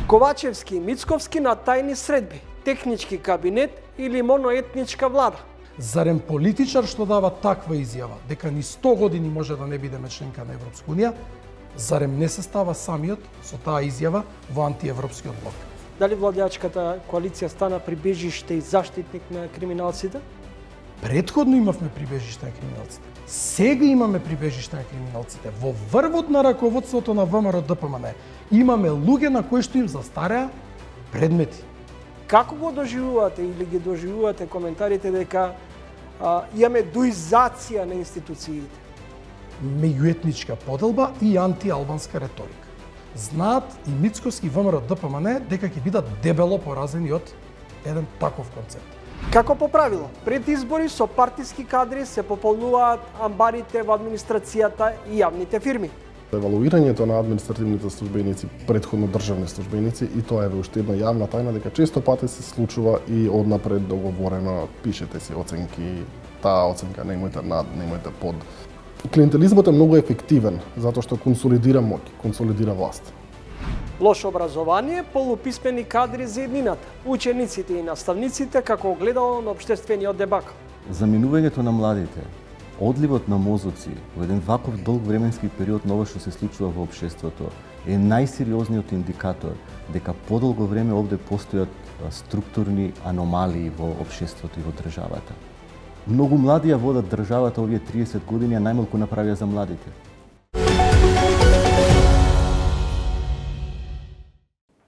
Ковачевски и Мицковски на тајни средби, технички кабинет или моноетничка влада. Зарем политичар што дава таква изјава, дека ни 100 години може да не бидеме членка на Европска унија, зарем не се става самиот со таа изјава во антиевропскиот блок? Дали владеачката коалиција стана прибежиште и заштитник на криминалците? Претходно имавме прибежиште на криминалците. Сега имаме прибежиште на криминалците. Во врвот на раководството на ВМРО ДПМН имаме луѓе на кои што им застареа предмети. Како го доживувате или ги доживувате коментарите дека имаме дуизација на институциите? Меѓуетничка поделба и антиалбанска реторика. Знаат и Мицковски и ВМРО ДПМН дека ќе бидат дебело поразени од еден таков концепт. Како по правило, пред избори со партиски кадри се пополнуваат амбарите во администрацијата и јавните фирми. Евалуирањето на административните службеници, претходно државни службеници, и тоа е уште една јавна тајна дека често пати се случува и однапред договорено, пишете си оценки, таа оценка немојте над, немојте под. Клиентелизмот е многу ефективен затоа што консолидира моќ, консолидира власт. Лошо образование, полуписмени кадри за еднината, учениците и наставниците како огледало на општествениот дебакл. Заминувањето на младите, одливот на мозоци во еден ваков долг временски период на ова што се случува во општеството е најсериозниот индикатор дека подолго време овде постојат структурни аномалии во општеството и во државата. Многу млади ја водат државата овие 30 години, а најмалку направија за младите.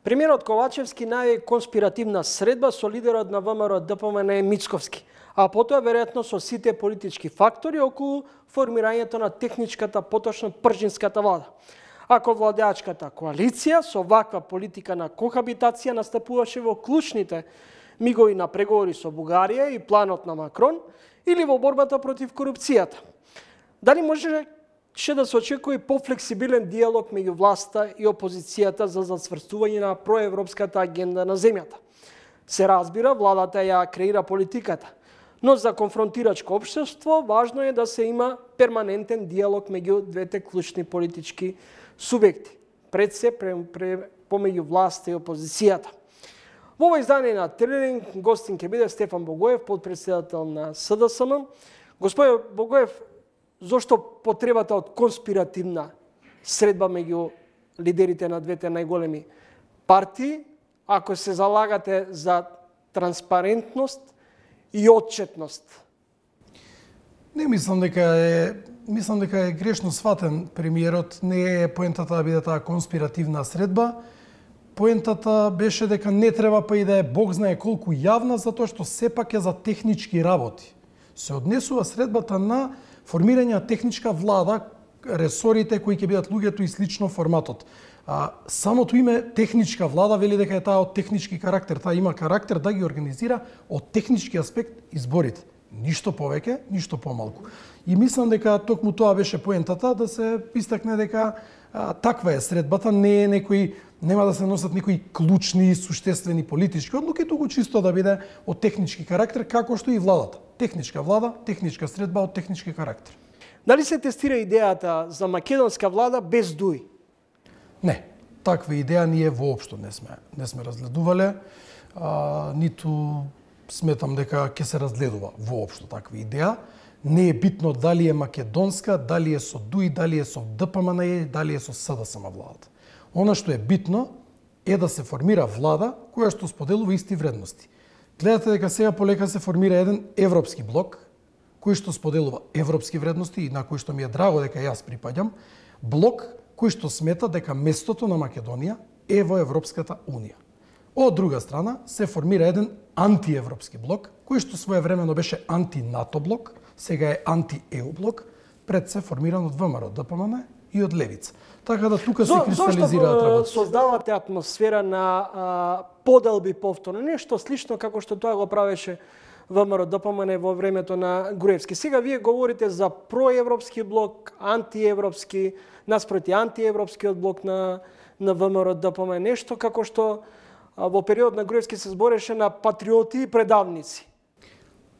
Премиерот Ковачевски најави конспиративна средба со лидерот на ВМРО ДПМН Мицковски, а потоа веројатно со сите политички фактори околу формирањето на техничката, поточно пржинската влада. Ако владеачката коалиција со ваква политика на кохабитација настапуваше во клучните мигови на преговори со Бугарија и планот на Макрон или во борбата против корупцијата. Дали можеше да се очекува и пофлексибилен диалог меѓу власта и опозицијата за зацврстување на проевропската агенда на земјата? Се разбира, владата ја креира политиката, но за конфронтирачко општество важно е да се има перманентен диалог меѓу двете клучни политички субјекти, пред се помеѓу власта и опозицијата. Во ова издание на Тренинг гостин ќе биде Стефан Богоев, подпредседател на СДСМ. Господин Богоев, зошто потребата од конспиративна средба меѓу лидерите на двете најголеми партии, ако се залагате за транспарентност и отчетност? Не мислам дека е грешно сватен премиерот. Не е поентата да биде таа конспиративна средба. Поентата беше дека не треба па и да е Бог знае колку јавна, затоа што сепак е за технички работи. Се однесува средбата на формирање на техничка влада, ресорите кои ќе бидат луѓето и слично форматот. Самото име техничка влада вели дека е таа од технички карактер. Таа има карактер да ги организира од технички аспект изборите. Ништо повеќе, ништо помалку. И мислам дека токму тоа беше поентата, да се истакне дека таква е средбата, не е некои, нема да се носат некои клучни, суштествени политички одлуки, туку чисто да биде од технички карактер, како што и владата. Техничка влада, техничка средба од технички карактер. Дали се тестира идејата за македонска влада без ДУИ? Не, таква идеја ние воопшто не сме разгледувале, ниту сметам дека ќе се разгледува воопшто таква идеја. Не е битно дали е македонска, дали е со ДУИ, дали е со ДПМН, дали е со СДСМ владата. Она што е битно е да се формира влада која што споделува исти вредности. Гледате дека сега полека се формира еден европски блок кој што споделува европски вредности и на кој што ми е драго дека јас припаѓам, блок кој што смета дека местото на Македонија е во Европската унија. Од друга страна се формира еден антиевропски блок кој што своевремено беше анти-НАТО блок, сега е анти-ЕУ блок, пред се формиран од ВМРО ДПМН и од левица. Така да тука се кристализираат работи. Зошто создавате атмосфера на поделби повторно? Нешто слично како што тоа го правеше ВМРО ДПМН во времето на Груевски. Сега вие говорите за проевропски блок, антиевропски, наспроти антиевропскиот блок на ВМРО ДПМН. Нешто како што во период на Груевски се збореше на патриоти и предавници.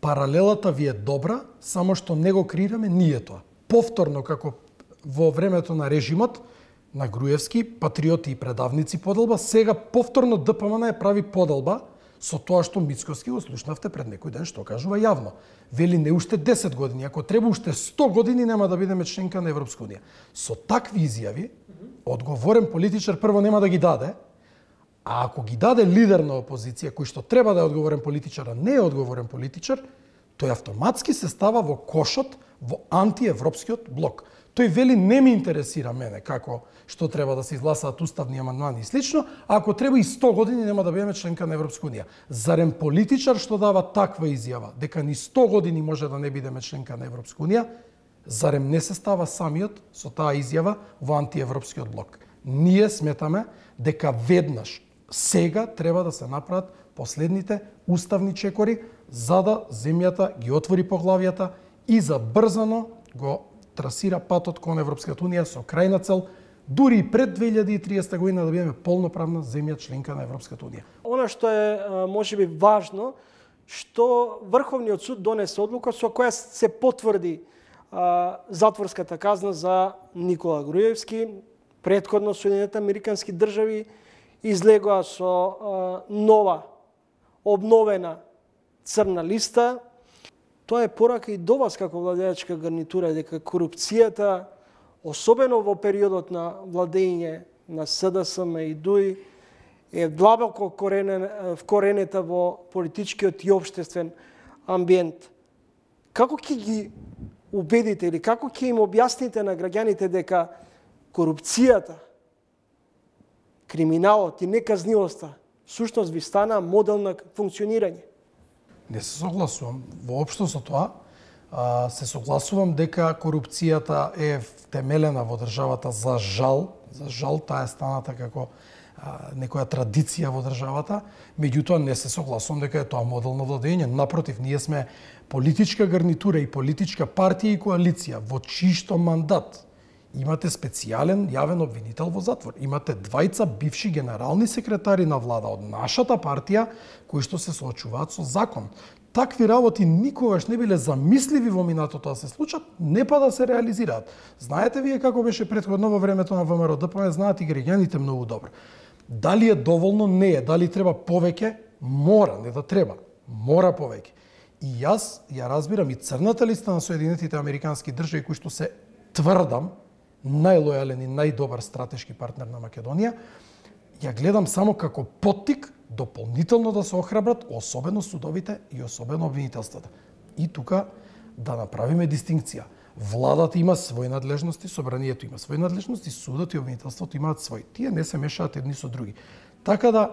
Паралелата ви е добра, само што не го креираме ние тоа. Повторно, како во времето на режимот, на Груевски, патриоти и предавници поделба, сега повторно ДПМН ја прави поделба со тоа што Мицковски го слушнавте пред некој ден што кажува јавно. Вели не уште 10 години, ако треба уште 100 години нема да бидеме членка на Европска унија. Со такви изјави, одговорен политичар прво нема да ги даде, а ако ги даде лидер на опозиција кој што треба да е одговорен политичар, а не е одговорен политичар, тој автоматски се става во кошот во антиевропскиот блок. Тој вели не ми интересира мене како што треба да се изгласаат уставни амандмани и слично, а ако треба и 100 години нема да бидеме членка на Европска унија. Зарем политичар што дава таква изјава дека ни 100 години може да не бидеме членка на Европска унија, зарем не се става самиот со таа изјава во антиевропскиот блок. Ние сметаме дека веднаш сега треба да се направат последните уставни чекори за да земјата ги отвори поглавијата и забрзано го трасира патот кон Европската унија со крајна цел дури и пред 2030 година да бидеме полноправна земја членка на Европската унија. Она што е можеби важно, што Врховниот суд донесе одлука со која се потврди затворската казна за Никола Груевски. Претходно Соединените американски држави излегоа со нова, обновена црна листа. Тоа е порака и до вас како владеачка гарнитура дека корупцијата, особено во периодот на владење на СДСМ и ДУИ, е длабоко вкоренета во политичкиот и општествен амбиент. Како ќе ги убедите или како ќе им објасните на граѓаните дека корупцијата, криминалот и неказнивоста сушност ви стана модел на функционирање? Не се согласувам воопшто со тоа. Се согласувам дека корупцијата е втемелена во државата за жал. За жал таа е станата како некоја традиција во државата. Меѓутоа не се согласувам дека е тоа модел на владење. Напротив, ние сме политичка гарнитура и политичка партија и коалиција во чишто мандат имате специјален јавен обвинител во затвор. Имате двајца бивши генерални секретари на влада од нашата партија кои што се соочуваат со закон. Такви работи никогаш не биле замисливи во минатото да се случат, не па да се реализираат. Знаете вие како беше претходно во времето на ВМРО ДПМН, знаат и граѓаните многу добро. Дали е доволно? Не е. Дали треба повеќе? Мора, не да треба. Мора повеќе. И јас ја разбирам и црната листа на Соединетите американски држави кои што се тврдам најлојален и најдобар стратешки партнер на Македонија, ја гледам само како поттик дополнително да се охрабрат, особено судовите и особено обвинителствата. И тука да направиме дистинкција. Владата има своји надлежности, собранието има своји надлежности, судот и обвинителството имаат своји. Тие не се мешаат едни со други. Така да,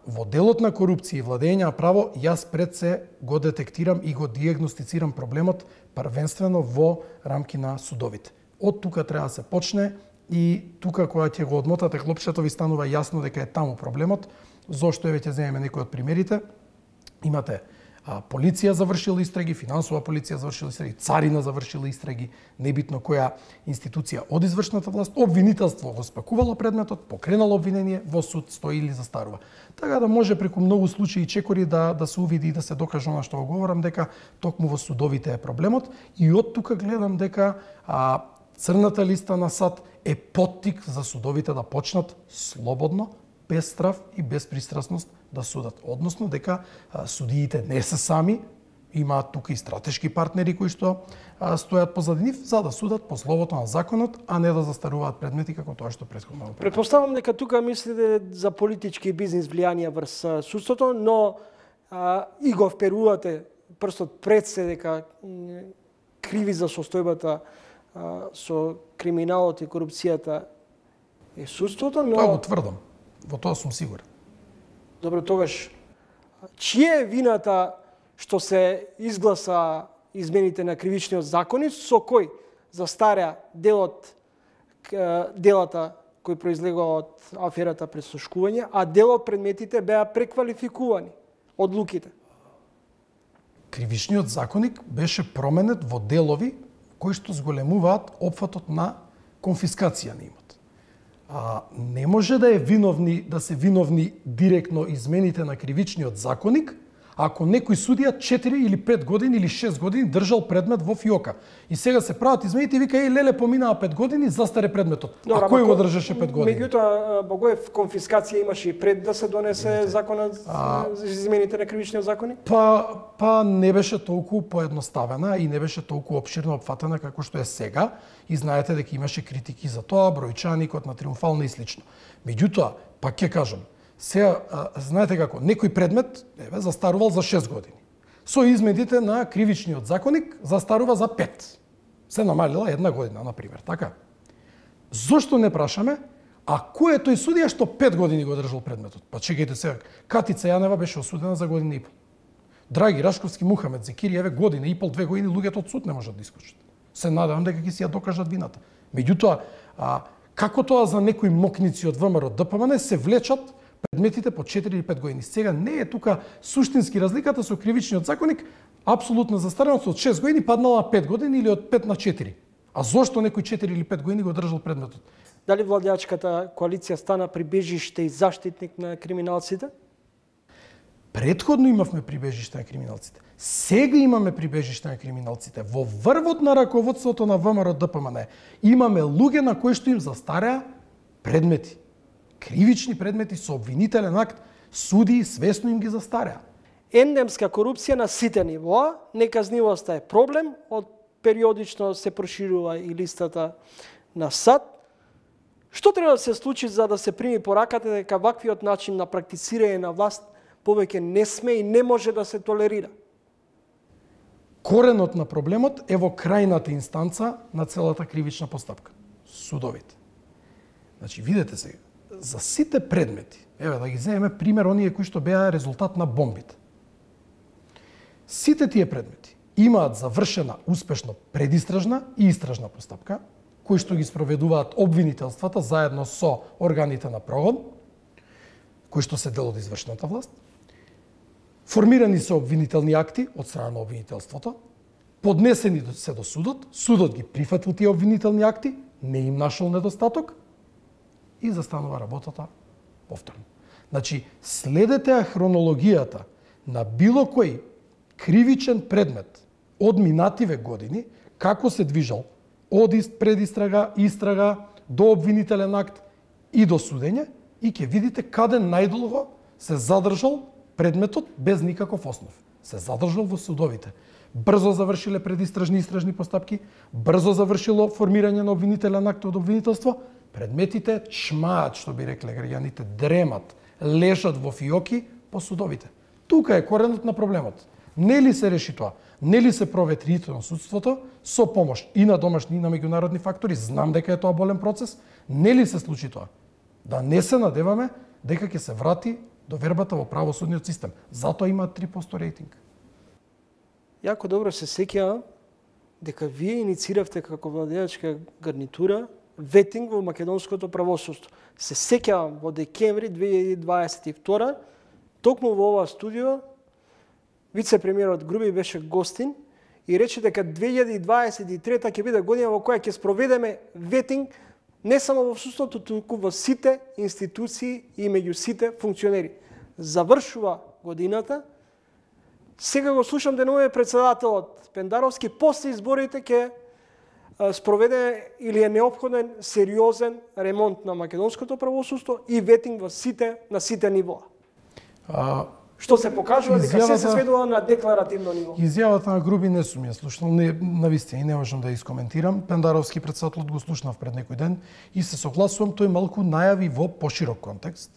во делот на корупција и владење на право, јас пред се го детектирам и го диагностицирам проблемот првенствено во рамки на судовите. Од тука треба да се почне и тука кога ќе го одмотате клопчето ви станува јасно дека е таму проблемот. Зошто веќе земеме некои од примерите? Имате полиција завршила истраги, финансова полиција завршила истраги, царина завршила истраги, небитно која институција од извршната власт, обвинителство го спакувало предметот, покренало обвинение, во суд стои или застарува. Така да може преку многу случаи и чекори да се увиди и да се докаже она што го говорам, дека токму во судовите е проблемот. И од тука гледам дека црната листа на САД е поттик за судовите да почнат слободно, без страф и без пристрасност да судат. Односно дека судиите не се сами, имаат тука и стратешки партнери кои што стојат позади нив за да судат по словото на законот, а не да застаруваат предмети како тоа што претходно. Претпоставам дека тука мислите за политички и бизнис влијанија врз судството, но и го вперувате прстот пред се дека криви за состојбата со криминалот и корупцијата е судството, но... Тоа го тврдам. Во тоа сум сигурен. Добро, тогаш, чија е вината што се изгласа измените на кривичниот закони, со кој застаря делата кои произлегува од аферата пресушкување, а дел од предметите беа преквалификувани одлуките? Кривичниот законник беше променет во делови кои што зголемуваат опфатот на конфискација на имот. Не може да се виновни директно измените на кривичниот законник, Ако некој судија 4 или 5 години или 6 години држал предмет во фиока и сега се прават измените и вика леле поминаа 5 години застаре предметот. А кој го држеше 5 години? Меѓутоа Богоев конфискација имаше и пред да се донесе законот за измените на кривичниот закони? Па не беше толку поедноставена и не беше толку опширно опфатена како што е сега и знаете дека имаше критики за тоа, бројчаникот на Триумфална и слично. Меѓутоа, пак ќе кажам, сега, знаете како, некој предмет застарувал за 6 години. Со измените на кривичниот законник застарува за 5. Се намалила 1 година, например, така? Зошто не прашаме, а кој е тој судија што 5 години го држал предметот? Па чекајте сега, Катица Јанева беше осудена за година и пол. Драги Рашковски, Мухамед Зекири, година и пол, 2 години, луѓето од суд не можат да искочат. Се надевам дека ќе си ја докажат вината. Меѓутоа, како тоа за некои мокници од ВМРО ДПМН се влечат предметите по 4 или 5 години. Сега не е тука суштински разликата со кривичниот законник, апсолутно застареност од 6 години паднала на 5 години или од 5 на 4. А зошто некој 4 или 5 години го држал предметот? Дали владеачката коалиција стана прибежиште и заштитник на криминалците? Претходно имавме прибежиште на криминалците. Сега имаме прибежиште на криминалците. Во врвот на раководството на ВМРО ДПМН имаме луѓе на кои што им застареа предмети. Кривични предмети со обвинителен акт, суди свесно им ги застареа. Ендемска корупција на сите нивоа, неказнивоста е проблем, од периодично се проширува и листата на САД. Што треба да се случи за да се прими пораката дека ваквиот начин на практицирање на власт повеќе не сме и не може да се толерира? Коренот на проблемот е во крајната инстанца на целата кривична постапка. Судовите. Значи, видете сега, за сите предмети, еве да ги земеме пример оние кои што беа резултат на бомбите. Сите тие предмети имаат завршена успешно предистражна и истражна постапка, кои што ги спроведуваат обвинителствата заедно со органите на прогон, кои што се дел од извршната власт. Формирани се обвинителни акти од страна на обвинителството, поднесени се до судот, судот ги прифатил тие обвинителни акти, не им нашол недостаток и застанува работата повторно. Значи, следете хронологијата на било кој кривичен предмет од минативе години, како се движал од предистрага, истрага, до обвинителен акт и до судење и ќе видите каде најдолго се задржал предметот без никаков основ. Се задржал во судовите. Брзо завршиле предистражни и истражни постапки, брзо завршило формирање на обвинителен акт од обвинителство, предметите чмаат, што би рекле граѓаните, дремат, лежат во фиоки по судовите. Тука е коренот на проблемот. Нели се реши тоа? Нели се проветри на судството со помош и на домашни и на меѓународни фактори? Знам дека е тоа болен процес. Нели се случи тоа? Да не се надеваме дека ќе се врати довербата во правосудниот систем. Затоа има 3% рейтинг. Јако добро се сеќавам дека вие иницииравте како владеачка гарнитура ветинг во македонското правосудство. Се сеќавам во декември 2022, токму во ова студио, вице-премиерот Груби беше гостин и рече дека 2023 ќе биде година во која ќе спроведеме ветинг не само во судството, туку во сите институции и меѓу сите функционери. Завршува годината. Сега го слушам денове председателот Пендаровски, после изборите ќе спроведе или е неопходен сериозен ремонт на македонското правосудство и ветинг на сите нивоа. Што се покажува дека се сведува на декларативно ниво. Изјавата на Груби не сум ја слушнал, навистина и не можам да ја искоментирам. Пендаровски председателот го слушнав пред некој ден и се согласувам, тој малку најави во поширок контекст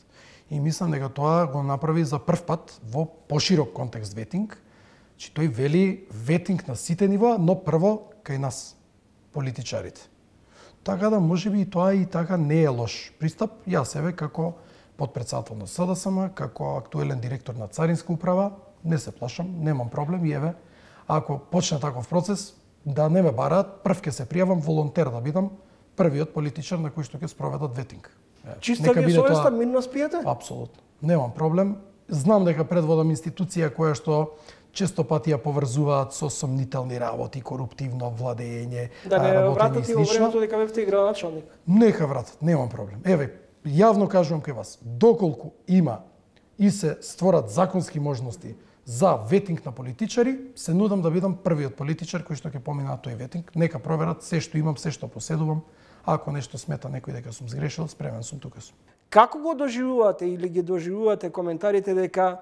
и мислам дека тоа го направи за прв пат во поширок контекст ветинг. Че тој вели ветинг на сите нива, но прво кај нас, политичарите. Така да можеби и тоа и така не е лош пристап. Јас еве како подпредседател на СДСМ, како актуелен директор на Царинска управа, не се плашам, немам проблем и еве, ако почне таков процес, да не ме бараат, прв ќе се пријавам волонтер да бидам првиот политичар на кој што ќе спроведат ветинг. Чиста ви е совеста, мирно спиете? Апсолутно. Немам проблем. Знам дека предводам институција која што често пати ја поврзуваат со сомнителни работи, коруптивно владење, да не работење и слично. Да не вратат и во времето дека бевте градоначалник. Нека вратат, немам проблем. Еве, јавно кажувам кај вас, доколку има и се створат законски можности за ветинг на политичари, се нудам да бидам првиот политичар кој што ќе помина тој ветинг. Нека проверат се што имам, се што поседувам. Ако нешто смета некој дека сум сгрешил, спремен сум, тука сум. Како го доживувате или ги доживувате коментарите дека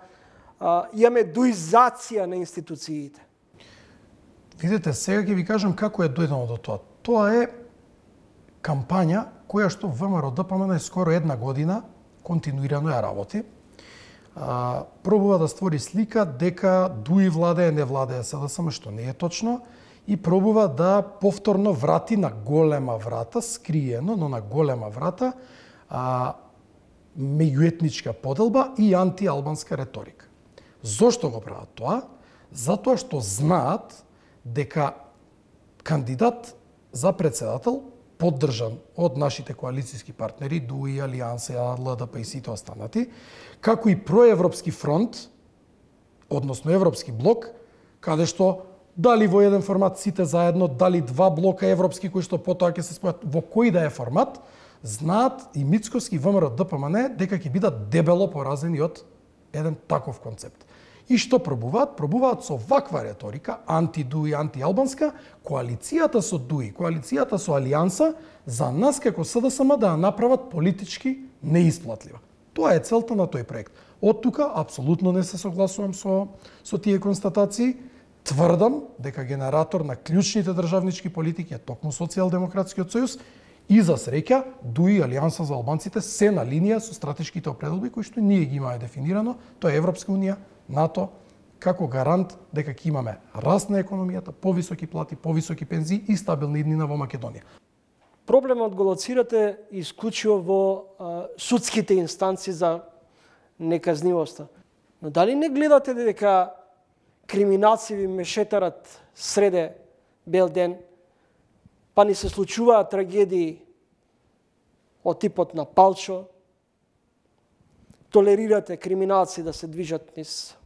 имаме дуизација на институциите? Видете, сега ќе ви кажам како е дојдено до тоа. Тоа е кампања која што ВМРО ДПМН е скоро една година континуирано ја работи. Пробува да створи слика дека ДУИ владее, не владее СДСМ, што не е точно, и пробува да повторно врати на голема врата, скриено, но на голема врата, меѓуетничка поделба и антиалбанска реторика. Зошто го прават тоа? Затоа што знаат дека кандидат за председател, поддржан од нашите коалицијски партнери, ДУИ, Алијанса, ЛДП и сите останати, како и проевропски фронт, односно европски блок, каде што дали во еден формат сите заедно, дали два блока европски кои што потоа ќе се спојат во кој да е формат, знаат и Мицковски ВМРО ДПМН дека ќе бидат дебело поразени од еден таков концепт. И што пробуваат? Пробуваат со ваква реторика, анти-ДУИ, анти-албанска, коалицијата со ДУИ, коалицијата со Алијанса, за нас како СДСМ да ја направат политички неисплатлива. Тоа е целта на тој проект. Од тука апсолутно не се согласувам со тие констатации. Тврдам дека генератор на клучните државнички политики е токму Социјалдемократскиот сојуз и за среќа ДУИ и Алијанса за албанците се на линија со стратешките определби кои што ние ги имаме дефинирано, тоа е Европска унија, НАТО, како гарант дека ќе имаме раст на економијата, повисоки плати, повисоки пензии и стабилна иднина во Македонија. Проблемот го лоцирате исклучиво во судските инстанции за неказнивоста. Но дали не гледате дека криминалци ви мешетарат среде бел ден, па ни се случуваат трагедии од типот на Палчо, толерирате криминалци да се движат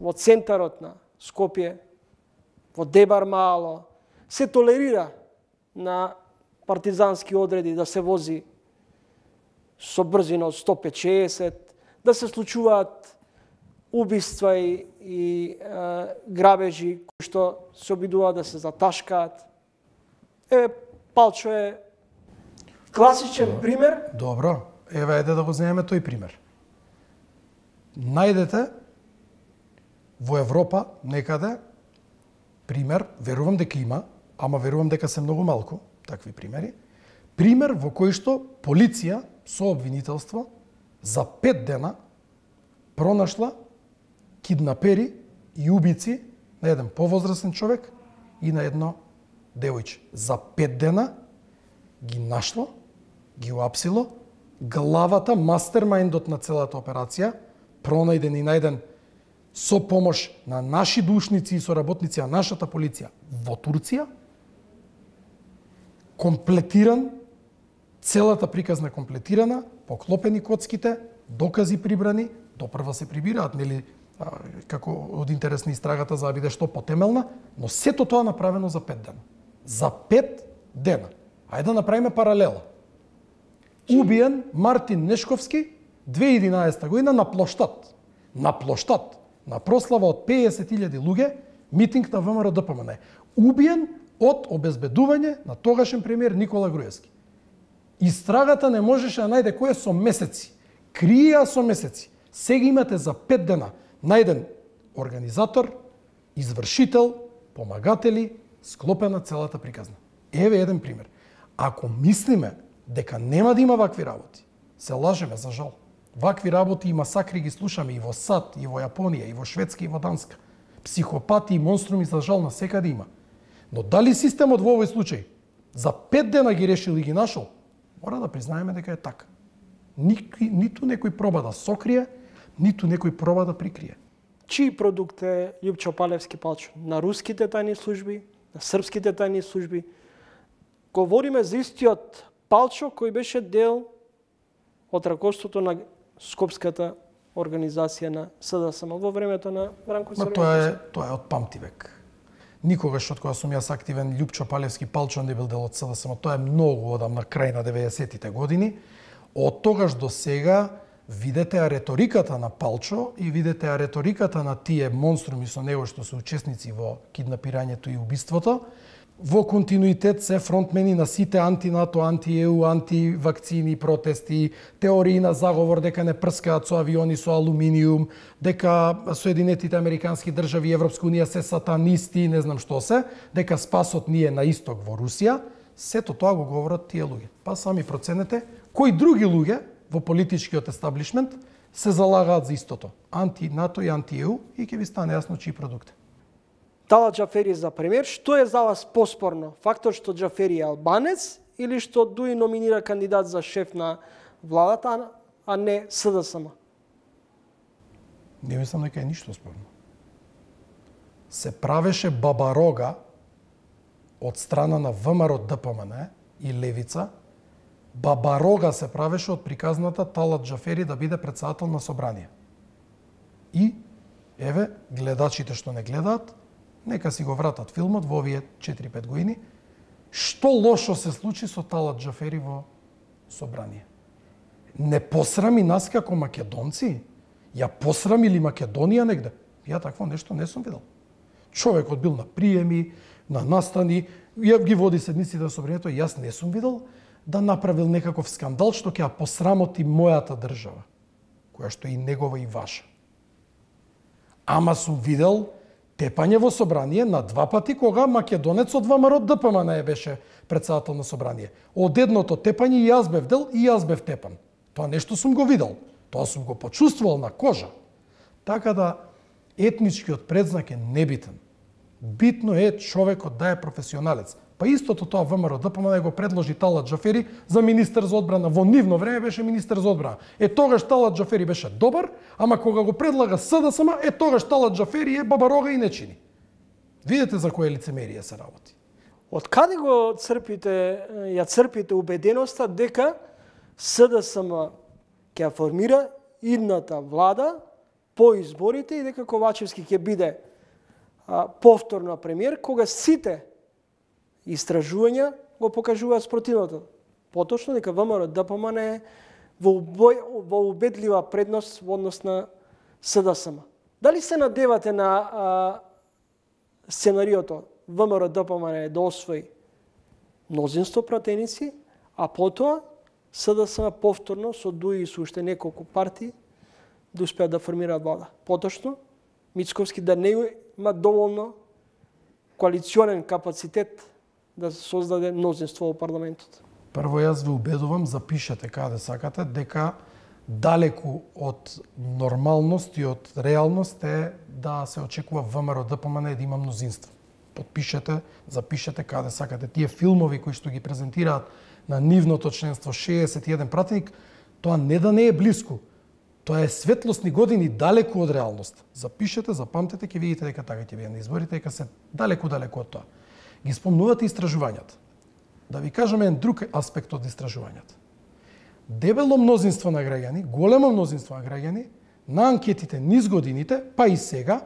во центарот на Скопје, во Дебар Мало, се толерира на партизански одреди да се вози со брзина од 150, да се случуваат убиства и грабежи кои што се обидуваат да се заташкаат. Палчо е класичен пример. Добро, еде да го земеме тој пример. Најдете во Европа некаде пример, верувам дека има, ама верувам дека се многу малку такви примери, пример во кој што полиција со обвинителство за 5 дена пронашла киднапери и убици на еден повозрасен човек и на едно девојче. За 5 дена ги нашло, ги уапсило, главата, мастермајндот на целата операција, пронајден и најден со помош на наши душници и соработници на нашата полиција во Турција, комплетиран, целата приказна комплетирана, поклопени коцките, докази прибрани, допрва се прибираат, нели, како од интерес на истрагата за да биде што потемелна, но сето тоа направено за 5 дена. За 5 дена. Ајде да направиме паралела. Убиен Мартин Нешковски 2011 година на плоштад. На плоштад. На прослава од 50.000 луѓе, митинг на ВМРО ДПМН. Убиен од обезбедување на тогашен премиер Никола Груевски. Истрагата не можеше да најде кој е со месеци. Криеа со месеци. Сега имате за 5 дена најден организатор, извршител, помагатели, склопена целата приказна. Еве еден пример. Ако мислиме дека нема да има вакви работи, се лажеме за жал. Вакви работи и масакри ги слушаме и во САД, и во Јапонија, и во Шведска, и во Данска. Психопати и монструми за жал на секаде има. Но дали системот во овој случај за 5 дена ги решил и ги нашол, мора да признаеме дека е така. Ниту некој проба да сокрие, ниту некој проба да прикрие. Чиј продукт е Љупчо Палевски Палчо? На руските тајни служби, на српските тајни служби? Говориме за истиот Палчо кој беше дел од раковството на Скопската организација на СДСМ во времето на Бранко Црвенковски. Тоа е од памтивек. Никогаш од кога сум јас активен, Љупчо Палевски Палчо не бил дел од СДСМ. Тоа е многу одамна, крај на 90-тите години. Од тогаш до сега Видете ја реториката на Палчо и видете ја реториката на тие монструми со него што се учесници во киднапирањето и убиството. Во континуитет се фронтмени на сите анти-НАТО, анти-ЕУ, анти-вакцини протести, теории на заговор дека не прскаат со авиони со алуминиум, дека Соединетите Американски држави и Европска унија се сатанисти, не знам што се, дека спасот ни е на исток во Русија. Сето тоа го говорат тие луѓе. Па сами проценете кои други луѓе во политичкиот естаблишмент се залагаат за истото. Анти-НАТО и анти-ЕУ и ќе ви стане јасно чии продукт. Талат Џафери за премиер, што е за вас поспорно? Фактор што Џафери е албанец или што Дуи номинира кандидат за шеф на владата, а не СДСМ? Не мислам дека е ништо спорно. Се правеше бабарога од страна на ВМРО ДПМН и Левица, бабарога се правеше од приказната Талат Џафери да биде претседател на собрание. И, еве, гледачите што не гледаат, нека си го вратат филмот во овие 4-5 години. Што лошо се случи со Талат Џафери во собрание? Не посрами нас како македонци? Ја посрами ли Македонија негде? Ја такво нешто не сум видел. Човекот бил на приеми, на настани, ја ги води седниците на собранието, јас не сум видел да направил некаков скандал што ќе ја посрамоти мојата држава, која што е и негова и ваша. Ама сум видел тепање во собрание на 2 пати кога македонец од ВМРО ДПМН беше претседател на собрание. Од едното тепање и јас бев дел и јас бев тепан. Тоа нешто сум го видел. Тоа сум го почувствувал на кожа. Така да етничкиот предзнак е небитен. Битно е човекот да е професионалец. Па истото тоа ВМРО ДПМН го предложи Талат Џафери за министер за одбрана. Во нивно време беше министер за одбрана. Тогаш Талат Џафери беше добар, ама кога го предлага СДСМ, тогаш Талат Џафери е бабарога и не чини. Видете за кое лицемерие се работи. Од каде го ја црпите убеденоста дека СДСМ ќе ја формира идната влада по изборите и дека Ковачевски ќе биде повторно премиер, кога сите истражувања го покажуваат спротивното. Поточно дека ВМРО ДПМН е во убедлива предност во однос на СДСМ. Дали се надевате на сценариото ВМРО ДПМН да освои мнозинство пратеници, а потоа СДСМ повторно со Дуи и со уште неколку партии да успеат да формираат влада? Поточно Мицковски да не има доволно коалиционен капацитет да се создаде мнозинство во парламентот? Прво јас ве убедувам, запишете каде сакате, дека далеку од нормалност и од реалност е да се очекува ВМРО ДПМН да има мнозинство. Подпишете, запишете каде сакате. Тие филмови кои што ги презентираат на нивното членство 61 пратеник, тоа не да не е блиску. Тоа е светлосни години далеку од реалност. Запишете, запамтете, ќе видите дека така ќе биде на изборите, дека се далеку од тоа. Ги спомнувате истражувањата. Да ви кажеме еден друг аспект од истражувањата. Дебело мнозинство на граѓани, големо мнозинство на граѓани, на анкетите низ годините, па и сега,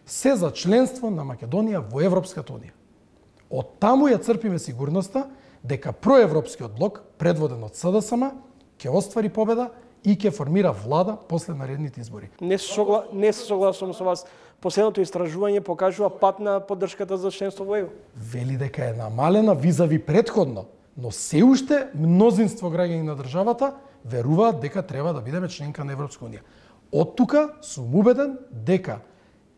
се за членство на Македонија во Европската унија. Од таму ја црпиме сигурноста дека проевропскиот блок, предводен од СДСМ, ќе оствари победа и ќе формира влада после наредните избори. Не се согласувам со вас. Последното истражување покажува пат на поддршката за членство во ЕУ. Вели дека е намалена визави претходно, но се уште мнозинство граѓани на државата веруваат дека треба да бидеме членка на Европска унија. Од тука сум убеден дека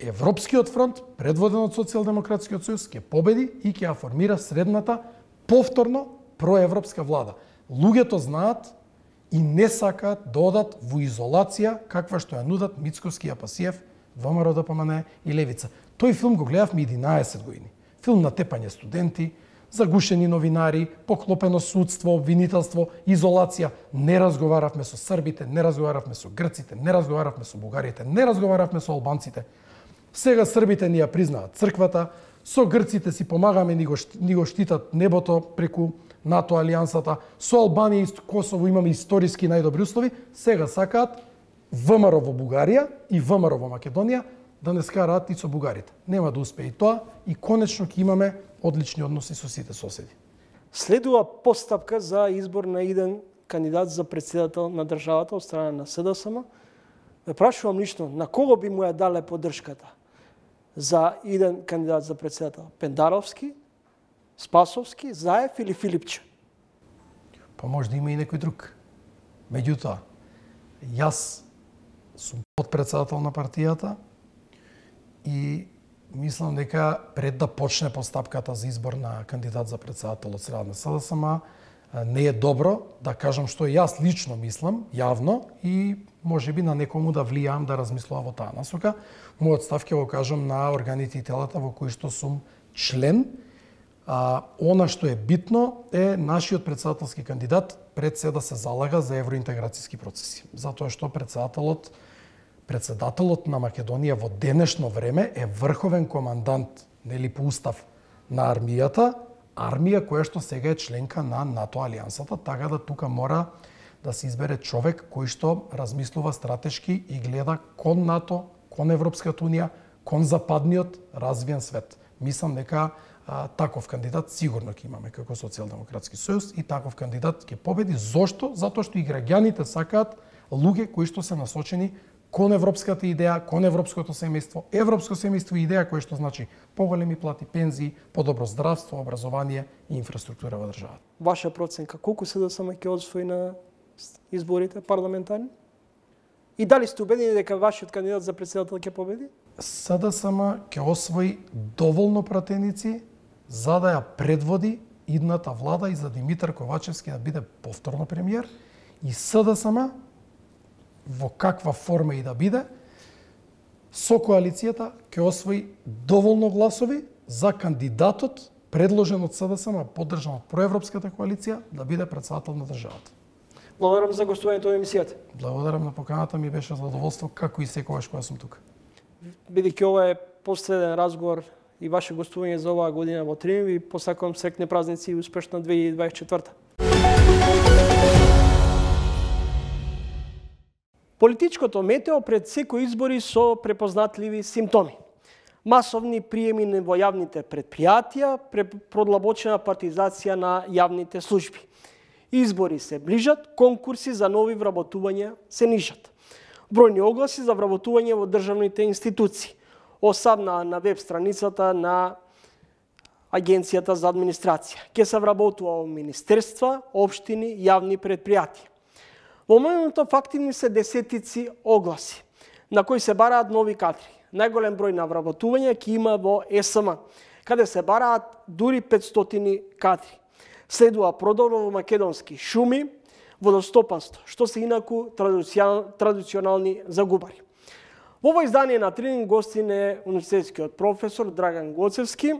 Европскиот фронт, предводен од Социјалдемократскиот сојуз, ќе победи и ќе ја формира средната повторно проевропска влада. Луѓето знаат и не сакаат да одат во изолација каква што ја нудат Мицковски, Апасиев, ВМРО ДПМН и Левица. Тој филм го гледавме 11 години. Филм на тепање студенти, загушени новинари, поклопено судство, обвинителство, изолација. Не разговаравме со србите, не разговаравме со грците, не разговаравме со бугарите, не разговаравме со албанците. Сега србите ни ја признаат црквата, со грците си помагаме, ни го штитат небото преку НАТО алијансата, со Албанија и Косово имаме историски најдобри услови, сега сакаат ВМРО во Бугарија и ВМРО во Македонија да не скараат и со бугарите. Нема да успее и тоа и конечно ќе имаме одлични односи со сите соседи. Следува постапка за избор на иден кандидат за председател на државата од страна на СДСМ, ме прашувам лично на кого би му ја дале поддршката за еден кандидат за председател? Пендаровски, Спасовски, Заев или Филипче? Па може да има и некој друг. Меѓутоа, јас сум подпредседател на партијата и мислам дека пред да почне постапката за избор на кандидат за председател од страна на СДСМ, не е добро да кажам што јас лично мислам, јавно, и можеби на некому да влијам да размислува во таа насока. Мојот став ќе го кажам на органите и телата во кои што сум член. Она што е битно е нашиот председателски кандидат пред се да се залага за евроинтеграцијски процеси. Затоа што председателот на Македонија во денешно време е врховен командант, нели по устав, на армија која што сега е членка на НАТО алијансата, така да тука мора да се избере човек кој што размислува стратешки и гледа кон НАТО, кон Европската унија, кон западниот развиен свет. Мислам дека таков кандидат сигурно ќе имаме како Социјалдемократски сојуз и таков кандидат ќе победи. Зошто? Затоа што и граѓаните сакаат луѓе кои што се насочени кон европската идеја, кон европското семејство. Европско семејство е идеја која што значи поголеми плати, пензии, подобро здравство, образование и инфраструктура во државата. Ваша проценка, колку СДСМ ќе освои на изборите парламентарни? И дали сте убедени дека вашиот кандидат за председател ќе победи? СДСМ ќе освои доволно пратеници за да ја предводи идната влада и за Димитар Ковачевски да биде повторно премиер, и СДСМ во каква форма и да биде, со коалицијата ќе освои доволно гласови за кандидатот предложен од СДСМ, поддржан од проевропската коалиција, да биде председател на државата. Благодарам за гостувањето во емисијата. Благодарам на поканата, ми беше задоволство како и секогаш кога сум тука. Бидејќи ова е последен разговор и ваше гостување за оваа година во Тринив, ви посакувам среќни празници и успешна 2024. Политичкото метео пред секои избори со препознатливи симптоми. Масовни приеми во јавните предпријатија, продлабочена партизација на јавните служби. Избори се ближат, конкурси за нови вработувања се нижат. Бројни огласи за вработување во државните институции. Осамна на веб страницата на Агенцијата за администрација. Ке се вработува во министерства, општини, јавни предпријатија. Во моментот активни се десетици огласи, на кои се бараат нови кадри. Најголем број на вработување ќе има во ЕСМ, каде се бараат дури 500 кадри. Следува продор во македонски шуми, водостопанство, што се инаку традиционални загубари. Во ово издание на Трининг гостин е универзитетскиот професор Драган Гоцевски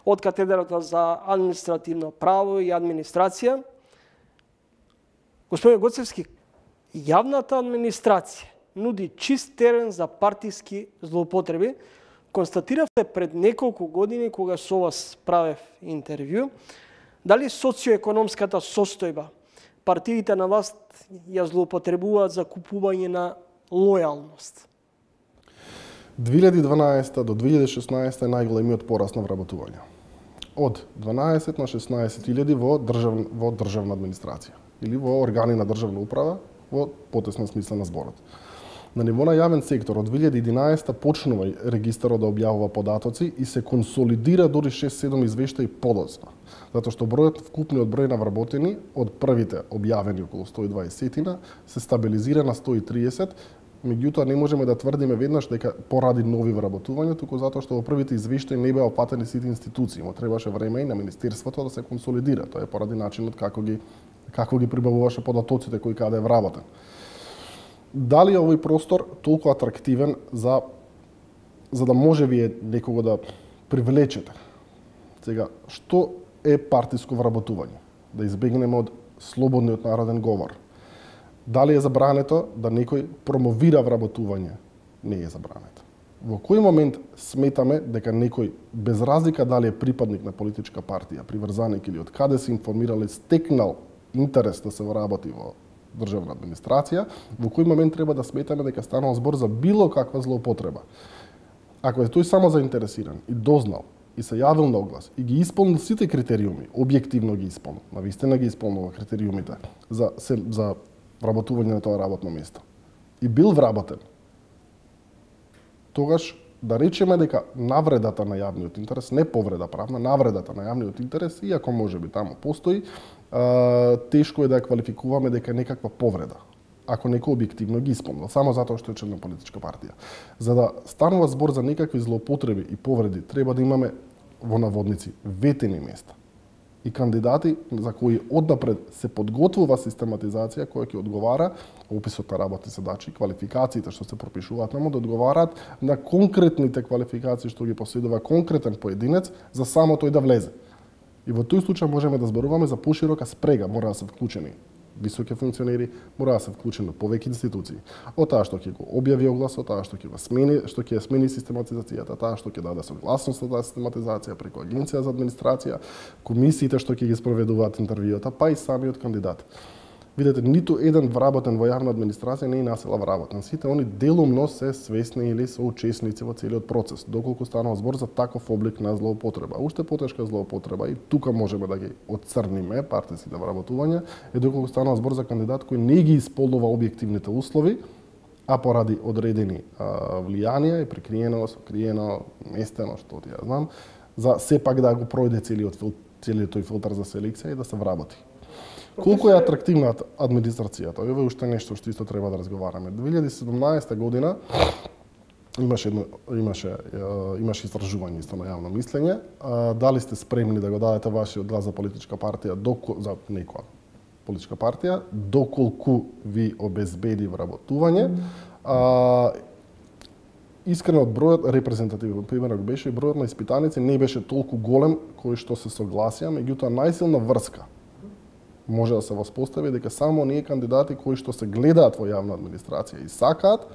од катедрата за административно право и администрација. Господин Гоцевски, јавната администрација нуди чист терен за партиски злоупотреби. Констатиравте пред неколку години кога со вас правев интервју, дали социоекономската состојба партиите на власт ја злоупотребуваат за купување на лојалност? 2012 до 2016 е најголемиот пораст на вработување. Од 12 на 16.000 во државна администрација или во органи на државна управа во потесна смисла на зборот. На ниво на јавен сектор од 2011 почнува регистарот да објавува податоци и се консолидира дури 6-7 извештаи подоцна, затоа што вкупниот број на вработени од првите објавени околу 120 се стабилизира на 130. Меѓутоа не можеме да тврдиме веднаш дека поради нови вработувања, туку затоа што во првите извештаи не беа опатени сите институции, му требаше време и на министерството да се консолидира. Тоа е поради начинот како ги прибавуваше податоците кои каде е вработен. Дали е овој простор толку атрактивен за да може вие некого да привлечете? Сега, што е партиско вработување? Да избегнеме од слободниот народен говор. Дали е забрането да некој промовира вработување? Не е забрането. Во кој момент сметаме дека некој, без разлика дали е припадник на политичка партија, приврзаник или од каде се информирал, стекнал интерес да се вработи во државна администрација, во кој момент треба да сметаме дека станува збор за било каква злоупотреба? Ако е тој само заинтересиран и дознал и се јавил на оглас и ги исполнил сите критериуми, објективно ги исполнил, навистина ги исполнува критериумите за вработување на тоа работно место и бил вработен, тогаш да речеме дека навредата на јавниот интерес, не повреда правна, навредата на јавниот интерес, иако може би таму постои, тешко е да ја квалификуваме дека некаква повреда, ако некој објективно ги исполнил, само затоа што е член на политичка партија. За да станува збор за некакви злоупотреби и повреди, треба да имаме во наводници ветени места и кандидати за кои однапред се подготвува систематизација која ќе одговара описот на работни задачи, квалификациите што се пропишуваат наму да одговараат на конкретните квалификации што ги поседува конкретен поединец за само тој да влезе. И во тој случај можеме да зборуваме за поширока спрега, мора да се вклучени високи функционери, мора да се вклучени повеќе институции. Од таа што ќе го објави огласот, таа што ќе го смени, што ќе смени систематизацијата, таа што ќе даде согласност на таа систематизација преку Агенција за администрација, комисиите што ќе ги спроведуваат интервјуата, па и самиот кандидат. Видете, ниту еден вработен во јавна администрација не е насила вработен. Сите они делумно се свесни или се учесници во целиот процес, доколку станува збор за таков облик на злоупотреба. Уште потешка злоупотреба и тука можеме да ги отцрниме партиските вработувања, е доколку станува збор за кандидат кој не ги исполнува објективните услови, а поради одредени влијанија и прикриено, сокриено, местено, што ти ја знам, за сепак да го пројде целиот тој филтер за селекција и да се вработи. Колку е атрактивна администрацијата? Ова е уште нешто што исто треба да разговараме. 2017 година имаше истражување исто на јавно мислење. Дали сте спремни да го дадете вашиот глас за политичка партија, за некоја политичка партија, доколку ви обезбеди вработување? Искрено бројот, репрезентативен примерот беше, бројот на испитаници не беше толку голем кој што се согласија, меѓутоа најсилна врска може да се воспостави дека само оние кандидати кои што се гледаат во јавна администрација и сакаат,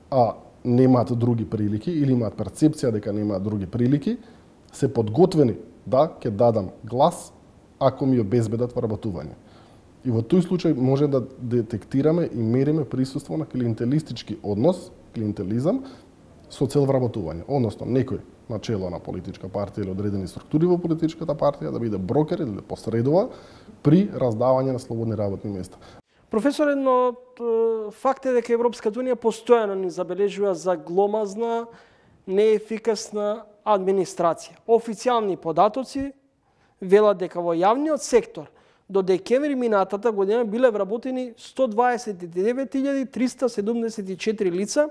а немаат други прилики или имаат перцепција дека немаат други прилики, се подготвени да ќе дадам глас ако ми обезбедат вработување. И во тој случај може да детектираме и мериме присуство на клиентелистички однос, клиентелизам, со цел вработување. Односно, некој на чело на политичка партија или одредени структури во политичката партија да биде брокер или да посредува при раздавање на слободни работни места. Професор, едно факт е дека Европската унија постојано ни забележува за гломазна, неефикасна администрација. Официјални податоци велат дека во јавниот сектор до декември минатата година биле вработени 129.374 лица